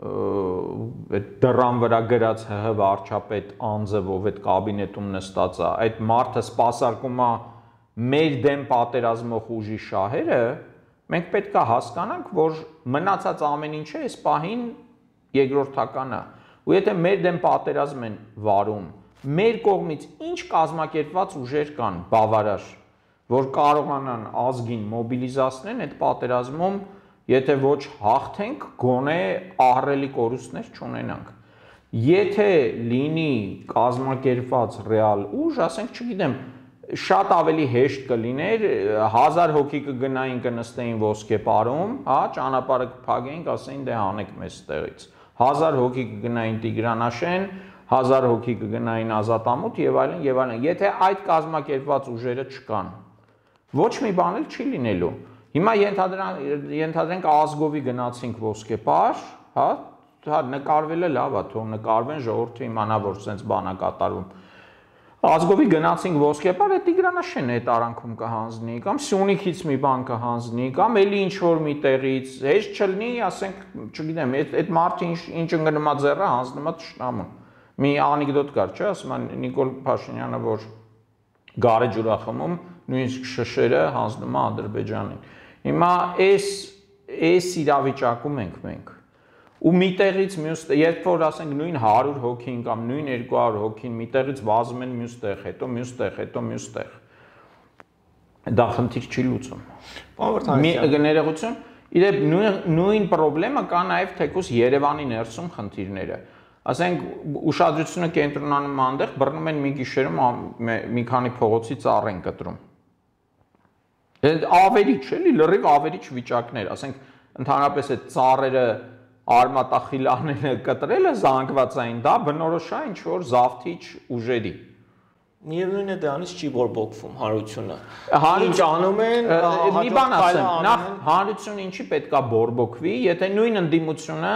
դրան վրա գրած ՀՀ վարչապետ անձը, ով այդ կաբինետում նստած է, այդ մարդը սպասարկում է մեր դեմ պատերազմող ուժի շահերը, մենք պետք է հասկանանք, որ մնացած ամեն ինչը այս պահին երկրորդական է։ Ու եթե մեր դեմ պատերազմ են վարում, մեր կողմից ինչ կազմակերպված ուժեր կան բավարար, որ կարողանան ազգին մոբիլիզացնել այդ պատերազմում, եթե ոչ հաղթենք, գոնե ահռելի կորուստներ չունենանք։ Եթե լինի կազմակերպված ռեալ ուժ, ասենք, չգիտեմ, շատ ավելի հեշտ կլիներ 1000 հոգի կգնային կնստեին ոսկե պարում, հա, ճանապարհը կփակեին, ասեին դե հանեք մեզ տեղից։ 1000 հոգի կգնային Տիգրանաշեն, 1000 հոգի կգնային Ազատամուտ եւ այլն եւ այլն։ Եթե այդ կազմակերպված ուժերը չկան, ոչ մի բան էլ չի լինելու։ Հիմա ենթադրենք ազգովի գնացինք ոսկե պար, հա, նկարվելը լավ է, թող նկարվեն, ժողովուրդը իմանա, որ sense բան է կատարվում։ Ազգովի գնացինք ոսկե պար, այդ Տիգրանաշենը այդ արանքում կհանձնի, կամ Սյունիքից մի բան կհանձնի, կամ էլի ինչ որ մի տեղից, հեշտ չլինի, ասենք, չգիտեմ, այդ մարդը ինչ ընկնումա ձեռը հանձնումա թշնամուն։ Մի անեկդոտ կար, չէ՞, ասում են Նիկոլ Փաշինյանը, որ գարեջուր է խմում, նույնիսկ շշերը հանձնում է Ադրբեջանին։ Հիմա այս իրավիճակում ենք մենք։ Ու մի տեղից մյուս, երբ որ ասենք նույն 100 հոգին կամ նույն 200 հոգին մի տեղից վազում են մյուս տեղ, հետո մյուս տեղ, հետո մյուս տեղ։ Դա խնդիր չի լուծում։ Ներողություն, իրեն նույն խնդրեմը կա նաև թեկուզ Երևանի ներսում խնդիրները։ Ասենք ուշադրությունը կենտրոնանում այնտեղ, բռնում են մի գիշերում մի քանի փողոցի ծառ են կտրում։ Ավերիչ, էլի լրիվ ավերիչ վիճակներ, ասենք ընդհանրապես այդ ծառերը արմատախիլաները կտրելը զանգվածային, դա բնորոշ է ինչ որ զավթիչ ուժերի։ Միևնույն է դրանից չի բորբոքվում հանրությունը։ Ինչ անում են, մի բան ասեմ, նախ հանրությունը ինչի պետքա բորբոքվի, եթե նույն ընդդիմությունը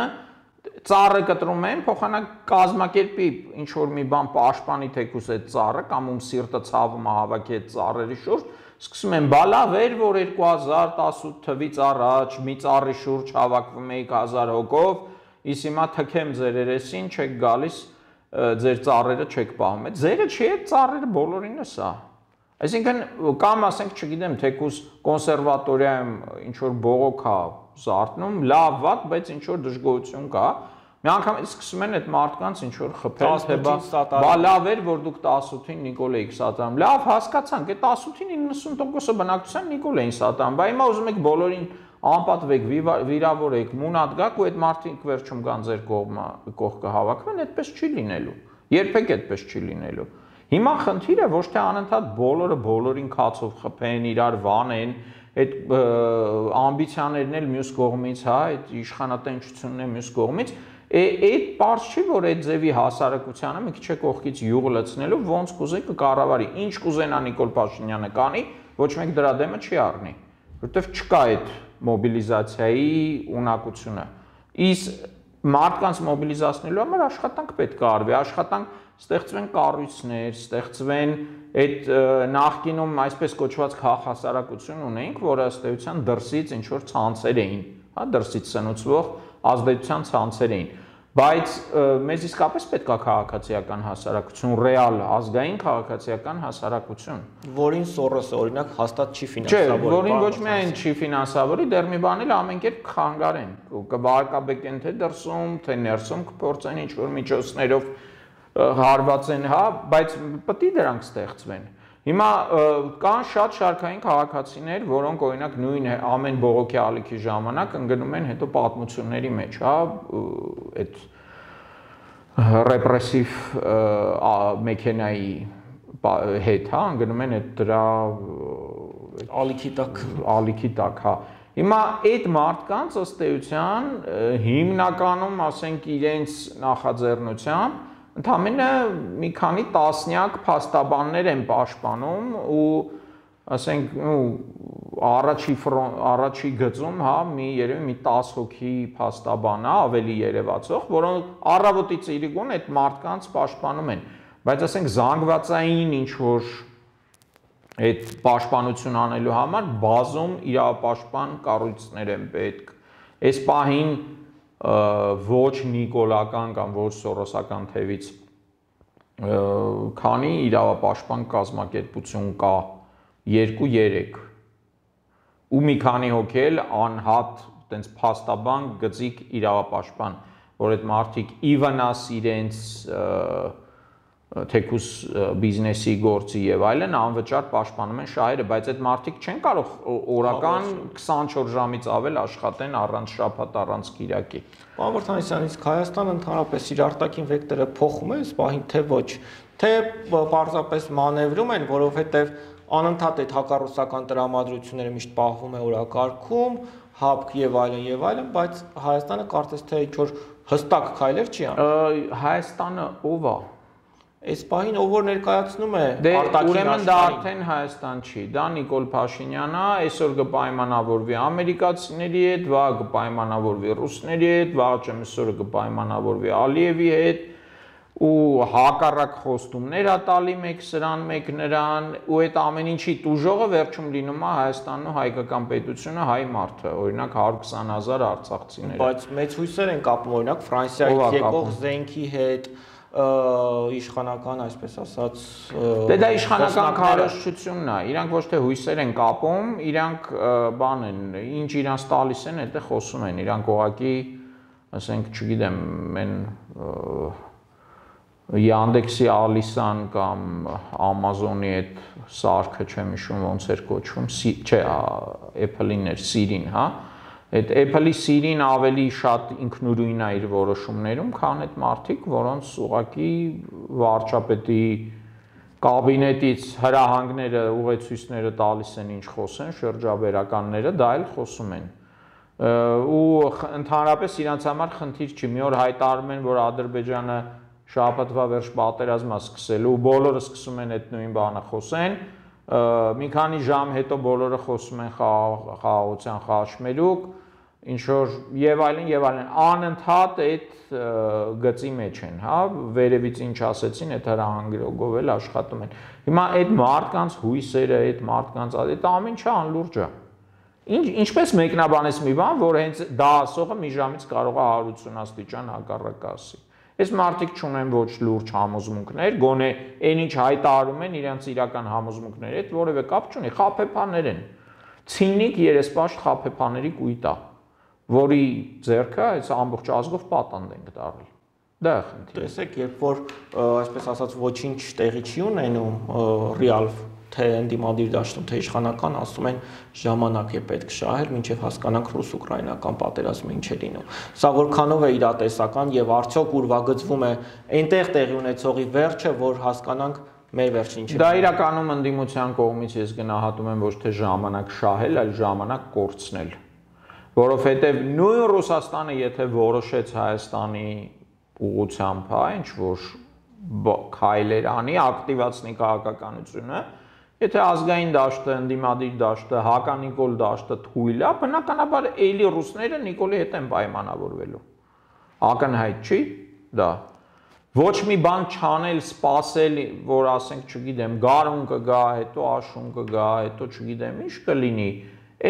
ծառը կտրում են, փոխանակ կազմակերպի ինչ որ մի բան պաշտպանի թեկուս այդ ծառը կամ ում սիրտը ցավում է հավաքի այդ ծառերի շուրջ, սկսում են բալավ էր, որ 2018 թվից առաջ մի ծառի շուրջ հավաքվում էիք 1000 հոգով, իսկ հիմա թքեմ ձեր երեսին, չեք գալիս, ձեր ծառերը չեք պահում։ Այդ ձերը չի, այդ ծառերը բոլորինս է։ Այսինքն կամ ասենք, չգիտեմ, թեկուս կոնսերվատորիայում ինչ որ բողոք է զարթնում, լավ վատ, բայց ինչ որ դժգոհություն կա։ Մի անգամ սկսում են այդ մարդկանց ինչ որ խփել, թե բա լավ էր, որ դուք 18-ին Նիկոլ էիք սատարում։ Լավ, հասկացանք, այդ 18-ին 90%-ը բնակչության Նիկոլ էին սատարում, բայց հիմա ուզում եք բոլորին անպատվեք, վիրավորեք, մունատ գաք ու այդ մարդիկ վերջում կան ձեր կողքը հավաքվեն, այդպես չի լինելու։ Երբեք այդպես չի լինելու։ Հիմա խնդիրը ոչ թե անընդհատ բոլորը բոլորին քացով խփեն, իրար վանեն, այդ ամբիցիաներն էլ մյուս կողմից, հա, այդ իշխանատենչությունն է մյուս կողմից, այդ պարզ չի, որ այդ ձևի հասարակությանը մի քիչ է կողքից յուղ լցնելու, ոնց կուզի կկառավարի, ինչ կուզենա Նիկոլ Փաշինյանը կանի, ոչ մեկ դրա դեմը չի առնի, որովհետև չկա այդ մոբիլիզացիայի ունակությունը։ Իսկ մարդկանց մոբիլիզացնելու համար աշխատանք պետք է արվի, աշխատանք ստեղծվեն կառույցներ, ստեղծվեն այդ նախկինում այսպես կոչված քաղաքասարակություն ունեինք, որը ըստ էության դրսից ինչ որ ցանցեր էին, հա, դրսից սնուցվող ազդեցության ցանցեր էին։ Բայց մեզ իսկապես պետք է քաղաքացիական հասարակություն, ռեալ ազգային քաղաքացիական հասարակություն, որին Սորոսը օրինակ հաստատ չի ֆինանսավորի։ Չէ, որին ոչ միայն չի ֆինանսավորի, դեռ մի բան էլ ամեն կերպ կխանգարեն, կվարկաբեկեն թե դրսում, թե ներսում կփորձեն ինչ-որ միջոցներով հարվածեն, հա, բայց պետք է դրանք ստեղծվեն։ Հիմա կան շատ շարքային քաղաքացիներ, որոնք օրինակ նույն ամեն բողոքի ալիքի ժամանակ ընկնում են հետո պատմությունների մեջ, հա, այդ ռեպրեսիվ մեքենայի հետ, հա, ընկնում են այդ դրա ալիքի տակ, հա։ Հիմա այդ մարդկանց ըստ էության հիմնականում, ասենք, իրենց նախաձեռնությամբ ընդամենը մի քանի տասնյակ փաստաբաններ են պաշտպանում ու ասենք առաջի գծում, հա, երևի մի 10 հոգի փաստաբան է, ավելի երևացող, որոնք առավոտից իրիկուն այդ մարդկանց պաշտպանում են, բայց ասենք զանգվածային ինչ որ այդ պաշտպանություն անելու համար բազում իրավապաշտպան կառույցներ են պետք։ Այս պահին ոչ նիկոլական կամ ոչ սորոսական թևից քանի իրավապաշտպան կազմակերպություն կա, 2-3 ու մի քանի հոգի էլ անհատ տենց փաստաբան գծիկ իրավապաշտպան, որ այդ մարդիկ ի վնաս իրենց թեկուս բիզնեսի գործի եւ այլն անվճար պաշտպանում են շահերը, բայց այդ մարդիկ չեն կարող օրական 24 ժամից ավել աշխատեն առանց շաբաթ, առանց կիրակի։ Պարոն Վարդանեսյան, իսկ Հայաստանը ընդհանրապես իր արտաքին վեկտորը փոխում է, սպահին թե ոչ, թե պարզապես մանևրում են, որովհետեւ անընդհատ այդ հակառուսական տրամադրությունները միշտ պահվում է օրակարգում, ՀԱՊԿ եւ այլն, բայց Հայաստանը կարծես թե ինչ-որ հստակ քայլեր չի անում։ Հայաստանը ով է։ Այս պահին ով որ ներկայացնում է արտաքին ուրեմն դա արդեն Հայաստան չի, դա Նիկոլ Փաշինյանն է, այսօր կպայմանավորվի ամերիկացիների հետ, վաղ կպայմանավորվի ռուսների հետ, վաղ չեմ այսօր կպայմանավորվի Ալիևի հետ ու հակառակ խոստումներ ա տալի մեկ սրան, մեկ նրան ու այդ ամեն ինչի տուժողը վերջում լինում է Հայաստանն ու հայկական պետությունը, հայ մարդը, օրինակ 120,000 արցախցիներ։ Բայց մեծ հույսեր են կապում օրինակ Ֆրանսիայից եկող զենքի հետ իշխանական, այսպես ասած, դա իշխանական քարոզչությունն է, իրանք ոչ թե հույսեր են կապում, իրանք բան են, ինչ իրանց տալիս են, դա խոսում են, իրանք ուղղակի, ասենք, չգիտեմ, մեն Yandex-ի Ալիսան կամ Amazon-ի այդ սարքը չեմ հիշում ոնց էր կոչվում, չէ, Apple-ին էր, Siri-ն, հա։ Այդ Apple-ի Siri-ն ավելի շատ ինքնուրույն է իր որոշումներում, քան այդ մարդիկ, որոնց ուղղակի վարչապետի կաբինետից հրահանգները, ուղեցույցները տալիս են ինչ խոսեն, շրջաբերականները դա էլ խոսում են։ Ու ընդհանրապես իրանց համար խնդիր չի, մի օր հայտարարում են, որ Ադրբեջանը շաբաթվա վերջ պատերազմ է սկսելու, բոլորը սկսում են այդ նույն բանը խոսեն, մի քանի ժամ հետո բոլորը խոսում են խաղաղության խաչմերուկ, ինչ որ եւ այլն, անընդհատ այդ գծի մեջ են, հա, վերևից ինչ ասեցին, այդ հրահանգով էլ աշխատում են։ Հիմա այդ մարդկանց հույսերը, այդ մարդկանց այդ ամեն ինչը անլուրջ է։ Ինչպես մեկնաբանես մի բան, որ հենց դա ասողը մի ժամից կարող է 180 աստիճան հակառակ ասի։ Այս մարդիկ չունեն ոչ լուրջ համոզմունքներ, գոնե այն ինչ հայտարարում են իրենց իրական համոզմունքների հետ որևէ կապ չունի, խաբեբաներ են։ Ցինիկ երեսպաշտ խաբեբաների կույտ է, որի ձեռքը այս ամբողջ ազգով պատանդ ենք դարել։ Դա է խնդիրը։ Տեսեք, երբ որ այսպես ասած ոչինչ տեղի չի ունենում, ռեալ թե ընդդիմադիր դաշտում, թե իշխանական, ասում են ժամանակ է պետք շահել, մինչև հասկանանք ռուս-ուկրաինական պատերազմը ինչ է լինում։ Սա որքանով է իրատեսական եւ արդյոք ուրվագծվում է այնտեղ տեղի ունեցողի վերջը, որ հասկանանք մեր վերջը ինչ է։ Դա իրականում ընդդիմության կողմից ես գնահատում եմ ոչ թե ժամանակ շահել, այլ ժամանակ կորցնել։ Որովհետեւ նույն Ռուսաստանը, եթե որոշեց Հայաստանի ուղղությամբ, հա, ինչ որ քայլեր անի, ակտիվացնի քաղաքականությունը, եթե ազգային դաշտը, ընդդիմադիր դաշտը, հականիկոլ դաշտը թույլ է, բնականաբար էլի ռուսները Նիկոլի հետ են պայմանավորվելու։ Ակնհայտ չի դա։ Ոչ մի բան չանել, սпасել, որ ասենք, չգիտեմ, գարուն կգա, հետո աշուն կգա, հետո չգիտեմ, ինչ կլինի։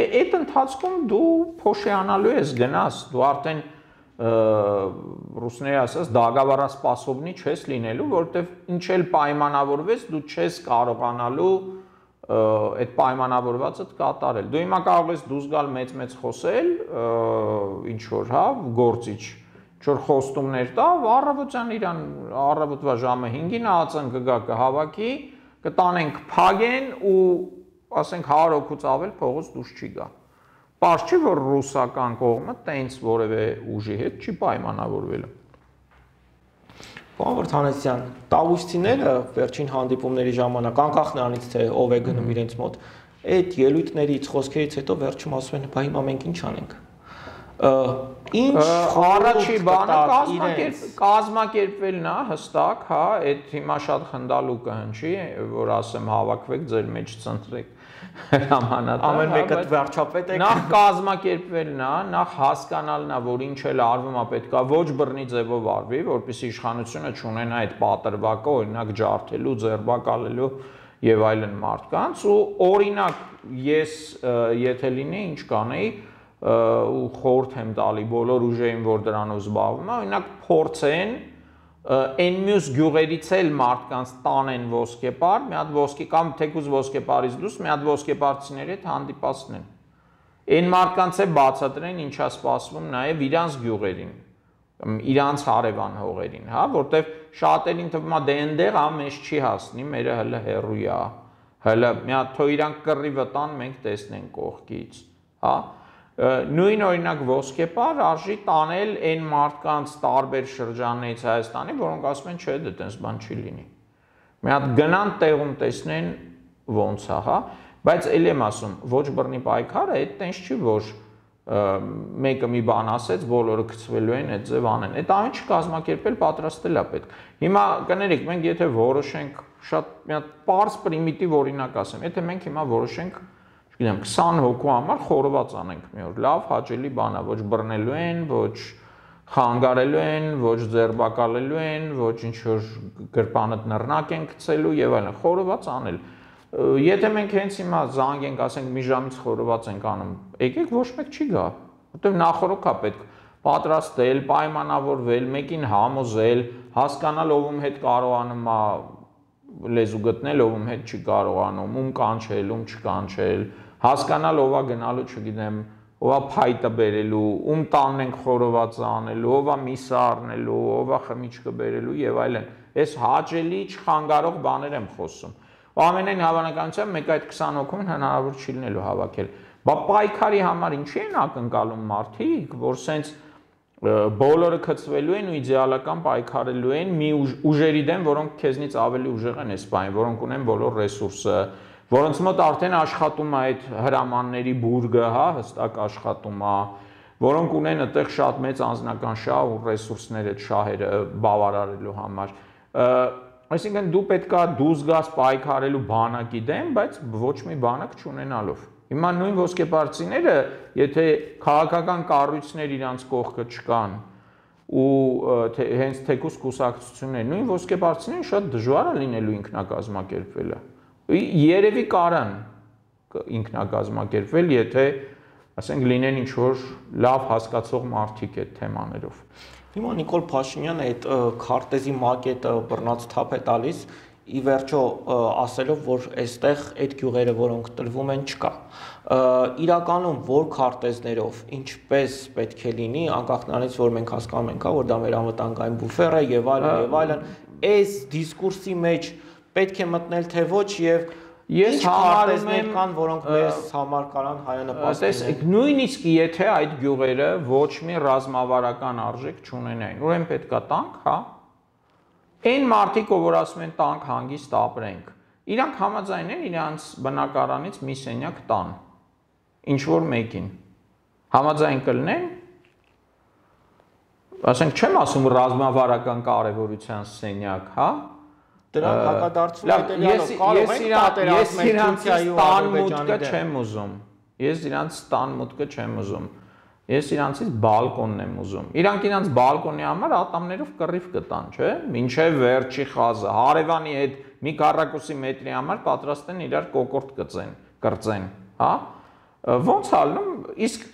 Այդ ընթացքում դու փոշիանալու ես գնաս, դու արդեն ռուսների ասած դագավառասպասովնի չես լինելու, որովհետև ինչ էլ պայմանավորվես, դու չես կարողանալու այդ պայմանավորվածդ կատարել։ Դու հիմա կարող ես դուրս գալ մեծ խոսել, ինչ որ, հա, գործիչ, ինչ որ խոստումներ տա, առավոտյան իրան առավոտվա ժամը 5-ին ԱԾ-ն կգա կհավաքի, կտանենք փագեն ու ասենք 100 հոգուց ավել փողոց դուրս չի գա։ Պարզ չի, որ ռուսական կողմը տենց որևէ ուժի հետ չի պայմանավորվել։ Պարոն Վարդանեսյան, տավուշցիները վերջին հանդիպումների ժամանակ, անկախ նրանից թե ով է գնում իրենց մոտ, այդ ելույթներից, խոսքերից հետո վերջում ասում են, բա հիմա մենք ինչ անենք։ Ինչ առաջի բանը կազմակերպվելն է հստակ, հա, այդ հիմա շատ խնդալու կհնչի, որ ասեմ հավաքվեք, ձեր մեջ ցնտրեք հրամանատար։ Ամեն մեկը վերջապետ է։ Նախ կազմակերպվելն է, նախ հասկանալն է, որ ինչ էլ արվում է, պետքա ոչ բռնի ձևով արվի, որպեսզի իշխանությունը չունենա այդ պատրվակը, օրինակ ջարդելու, ձերբակալելու եւ այլն մարդկանց, ու օրինակ ես եթե լինեի, ինչ կանեի, ու խորհուրդ եմ տալի բոլոր ուժերին, որ դրանով զբաղվում են, օրինակ փորձեն այն մյուս գյուղերից էլ մարդկանց տանեն ոսկեպար, մի հատ ոսկե կամ թեկուզ ոսկեպարից դուրս մի հատ ոսկեպարցիների հետ հանդիպացնեն։ Այն մարդկանց է բացատրեն ինչա սպասվում նաև իրանց գյուղերին, իրանց հարևան հողերին, հա, որտեվ շատերին թվում է դե այնտեղ ամեն չի հասնի, մերը հələ հեռու է, հələ մի հատ թող իրանք կռիվը տան, մենք տեսնենք կողքից, հա։ Նույն օրինակ ոսկեպար արժի տանել այն մարդկանց տարբեր շրջաններից Հայաստանի, որոնք ասում են, չէ, դե տենց բան չի լինի։ Մի հատ գնան տեղում տեսնեն ոնց է, հա, բայց ելի եմ ասում, ոչ բռնի պայքարը այդ տենց չի, որ մեկը մի բան ասեց, բոլորը գցվելու են այդ ձև անեն։ Այդ ամեն ինչ կազմակերպել, պատրաստել է պետք։ Հիմա կներեք, մենք եթե որոշենք, շատ մի հատ պարզ պրիմիտիվ օրինակ ասեմ, եթե մենք հիմա որոշենք գիտեմ 20 հոգու համար խորոված անենք մի օր, լավ, հաճելի բան է, ոչ բռնելու են, ոչ խանգարելու են, ոչ ձերբակալելու են, ոչ ինչ որ գրպանդ նռնակ են գցելու եւ այլն, խորոված անել։ Եթե մենք հենց հիմա զանգենք, ասենք մի ժամից խորոված ենք անում, եկեք ոչ մեկ չի գա, որտեղ նախորոք է պետք պատրաստել, պայմանավորվել, մեկին համոզել, հասկանալ ով հետ կարողանում է լեզու գտնել, ով հետ չի կարողանում, ում կանչել, ում չկանչել, հասկանալ ով է գնալու, չգիտեմ, ով է փայտը բերելու, ում տանն ենք խորովածը անելու, ով է միսը առնելու, ով է խմիչքը բերելու եւ այլն։ Այս հաճելի չխանգարող բաներ եմ խոսում։ Ու ամենայն հավանականությամբ մեկ այդ 20 հոգուն հնարավոր չի լինելու հավաքել։ Բա պայքարի համար ինչի են ակնկալում մարդիկ, որ սենց բոլորը գծվելու են ու իդեալական պայքարելու են մի ուժերի դեմ, որոնք քեզնից ավելի ուժեղ են այս բանը, որոնք ունեն բոլոր ռեսուրսը, որոնց մոտ արդեն աշխատում է այդ հրամանների բուրգը, հա, հստակ աշխատում է, որոնք ունեն այդտեղ շատ մեծ անձնական շահ ու ռեսուրսներ այդ շահերը բավարարելու համար։ Այսինքն դու պետքա դուրս գաս պայքարելու բանակի դեմ, բայց ոչ մի բանակ չունենալով։ Հիմա նույն ոսկեպարծիները, եթե քաղաքական կառույցներ իրանց կողքը չկան ու հենց թեկուզ կուսակցություններ, նույն ոսկեպարծիներին շատ դժվար է լինելու ինքնակազմակերպվելը։ Երևի կարան ինքնակազմակերպվել, եթե ասենք լինեն ինչ որ լավ հասկացող մարդիկ այդ թեմաներով։ Հիմա Նիկոլ Փաշինյանը այդ քարտեզի մակետը բռնած թափ է տալիս, ի վերջո ասելով, որ այստեղ այդ գյուղերը, որոնք տրվում են, չկա։ Իրականում որ քարտեզներով ինչպես պետք է լինի, անկախ նրանից, որ մենք հասկանում ենք, որ դա մեր անվտանգային բուֆեր է եւ այլն, այս դիսկուրսի մեջ պետք է մտնել թե ոչ եւ ես համարում եմ, կան, որոնք մեզ համար կարան հայանպաստ լինեն։ Նույնիսկ եթե այդ գյուղերը ոչ մի ռազմավարական արժեք չունենային, ուրեմն պետքա տանք, հա։ Այն մարդիկ, որ ասում են տանք հանգիստ ապրենք, իրանք համաձայն են իրանց բնակարանից մի սենյակ տան, ինչ որ մեկին։ Համաձայն կլինեն, ասենք չեմ ասում ռազմավարական կարևորության սենյակ, հա։ Դրանք հակադարձում հետելյալով կարող են պատերազմել Թուրքիայի ու Ադրբեջանի դեմ։ Ես իրանց տան մուտքը չեմ ուզում։ Ես իրանցից բալկոնն եմ ուզում։ Իրանք իրանց բալկոնի համար ատամներով կռիվ կտան, չէ՞։ Մինչև վերջի խազը, հարևանի հետ մի քառակուսի մետրի համար պատրաստ են իրար կոկորտ կրծեն, հա։ Ոնց ալնում, իսկ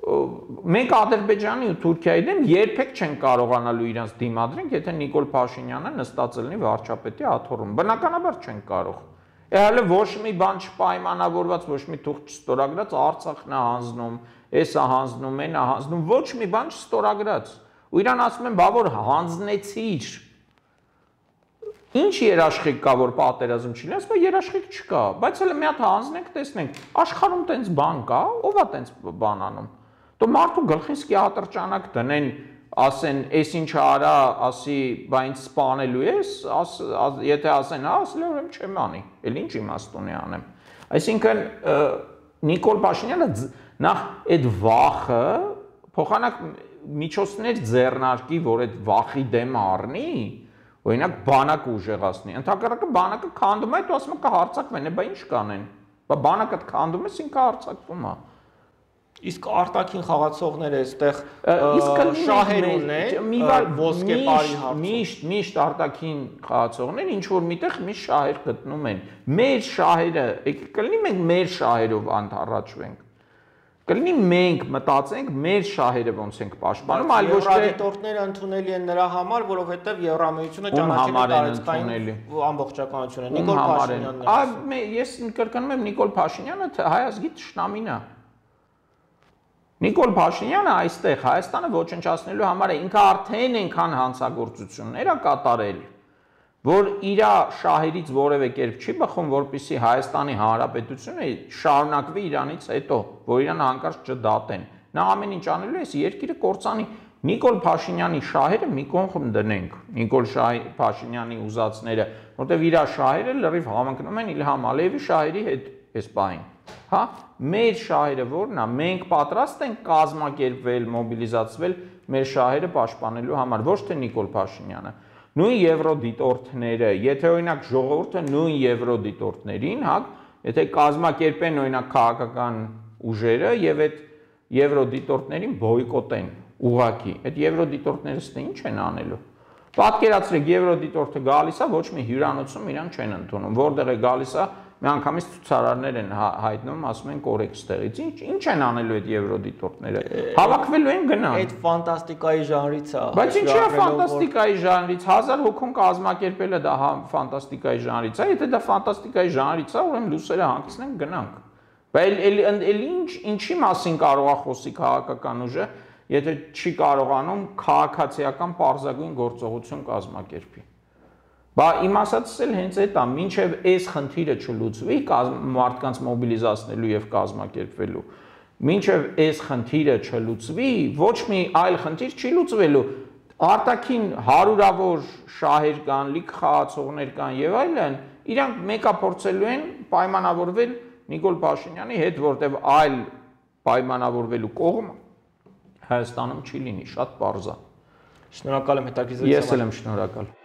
մենք Ադրբեջանի ու Թուրքիայի դեմ երբեք չեն կարողանալու իրենց դիմադրենք, եթե Նիկոլ Փաշինյանը նստած լինի վարչապետի աթոռում։ Բնականաբար չեն կարող։ Հələ ոչ մի բան չպայմանավորված, ոչ մի թուղթ չստորագրած, Արցախն է հանձնում, էսա հանձնում, այնա հանձնում, ոչ մի բան չստորագրած։ Ու իրան ասում են, բա որ հանձնեցիր։ Ինչ երաշխիք կա, որ պատերազմ չի լինի, ասում երաշխիք չկա, բայց հələ մի հատ հանձնենք, տեսնենք, աշխարհում տենց բան կա, ով է տենց բան անում։ Դու մարդու գլխին սկիատրճանակ դնեն, ասեն, էս ինչ արա, ասի, բա ինձ սպանելու ես, եթե ասեն, հա, ասել եմ չեմ անի, էլ ինչ իմաստ ունի անեմ։ Այսինքն Նիկոլ Փաշինյանը նախ այդ վախը փոխանակ միջոցներ ձեռնարկի, որ այդ վախի դեմ առնի, օրինակ բանակ ուժեղացնի։ Ընդհակառակը բանակը քանդում է, դու ասում ես կհարցակվեն, բա ինչ կանեն։ Բա բանակը քանդում ես, ինքը հարձակվում է։ Իսկ արտաքին խաղացողները այստեղ շահեր ունեն, ոսկե բարի հարցում։ Միշտ արտաքին խաղացողներ ինչ որ միտեղ միշտ շահեր գտնում են։ Մեր շահերը, կլինի մենք մեր շահերով անթառաջվենք։ Կլինի մենք մտածենք մեր շահերը ոնց ենք պաշտպանում, այլ ոչ թե դիտորդները ընդունելի են նրա համար, որովհետև Եվրամիությունը ճանաչել է տարածքային ամբողջականությունը։ Նիկոլ Փաշինյանն է։ Ես կրկնում եմ Նիկոլ Փաշինյանը հայ ազգի թշնամին է։ Նիկոլ Փաշինյանը այստեղ Հայաստանը ոչնչացնելու համար է ինքը արդեն այնքան հանցագործություններ է կատարել, որ իր շահերից որևէ կերպ չի բխում, որպեսզի Հայաստանի Հանրապետությունը շարունակվի իրանից հետո, որ իրան հանկարծ չդատեն։ Նա ամեն ինչ անելու է, երկիրը կործանի։ Նիկոլ Փաշինյանի շահերը մի կողմ դնենք, Նիկոլ Փաշինյանի ուզածները, որտեղ իր շահերը լրիվ համընկնում են Իլհամ Ալիևի շահերի հետ այս պահին։ Հա, մեր շահերը որն է, մենք պատրաստ ենք կազմակերպվել, մոբիլիզացվել մեր շահերը պաշտպանելու համար, ոչ թե Նիկոլ Փաշինյանը։ Նույն եվրոդիտորդները, եթե օրինակ ժողովուրդը նույն եվրոդիտորդներին, հա, եթե կազմակերպեն օրինակ քաղաքական ուժերը եւ այդ եվրոդիտորդներին բոյկոտեն ուղակի, այդ եվրոդիտորդները ստե ինչ են անելու։ Պատկերացրեք, եվրոդիտորդը գալիս է, ոչ մի հյուրանոցում իրան չեն ընդունում, որտեղ է գալիս է, մի անգամից ցուցարարներ են հայտնում, ասում են կորեք ստեղից։ Ինչ են անելու այդ եվրոդիտորդները։ Հավաքվելու են գնալ։ Այդ ֆանտաստիկայի ժանրից է։ Բայց ինչի է ֆանտաստիկայի ժանրից, 1000 հոգուն կազմակերպելը դա ֆանտաստիկայի ժանրից է, եթե դա ֆանտաստիկայի ժանրից է, ուրեմն լուսերը հանգցնենք գնանք։ Բայց ինչի մասին կարող է խոսի քաղաքական ուժը, եթե չի կարողանում քաղաքացիական պարզագույն գործողություն կազմակերպի։ Բա իմ ասածս էլ հենց այդ է, մինչև այս խնդիրը չլուծվի մարդկանց մոբիլիզացնելու եւ կազմակերպվելու, մինչև այս խնդիրը չլուծվի, ոչ մի այլ խնդիր չի լուծվելու։ Արտաքին հարյուրավոր շահեր կան, լիք խաղացողներ կան եւ այլն, իրանք մեկը փորձելու են պայմանավորվել Նիկոլ Փաշինյանի հետ, որտեղ այլ պայմանավորվելու կողմ Հայաստանում չի լինի, շատ պարզ է։ Շնորհակալ եմ հետաքրքիր զրույցի համար։ Ես էլ եմ շնորհակալ։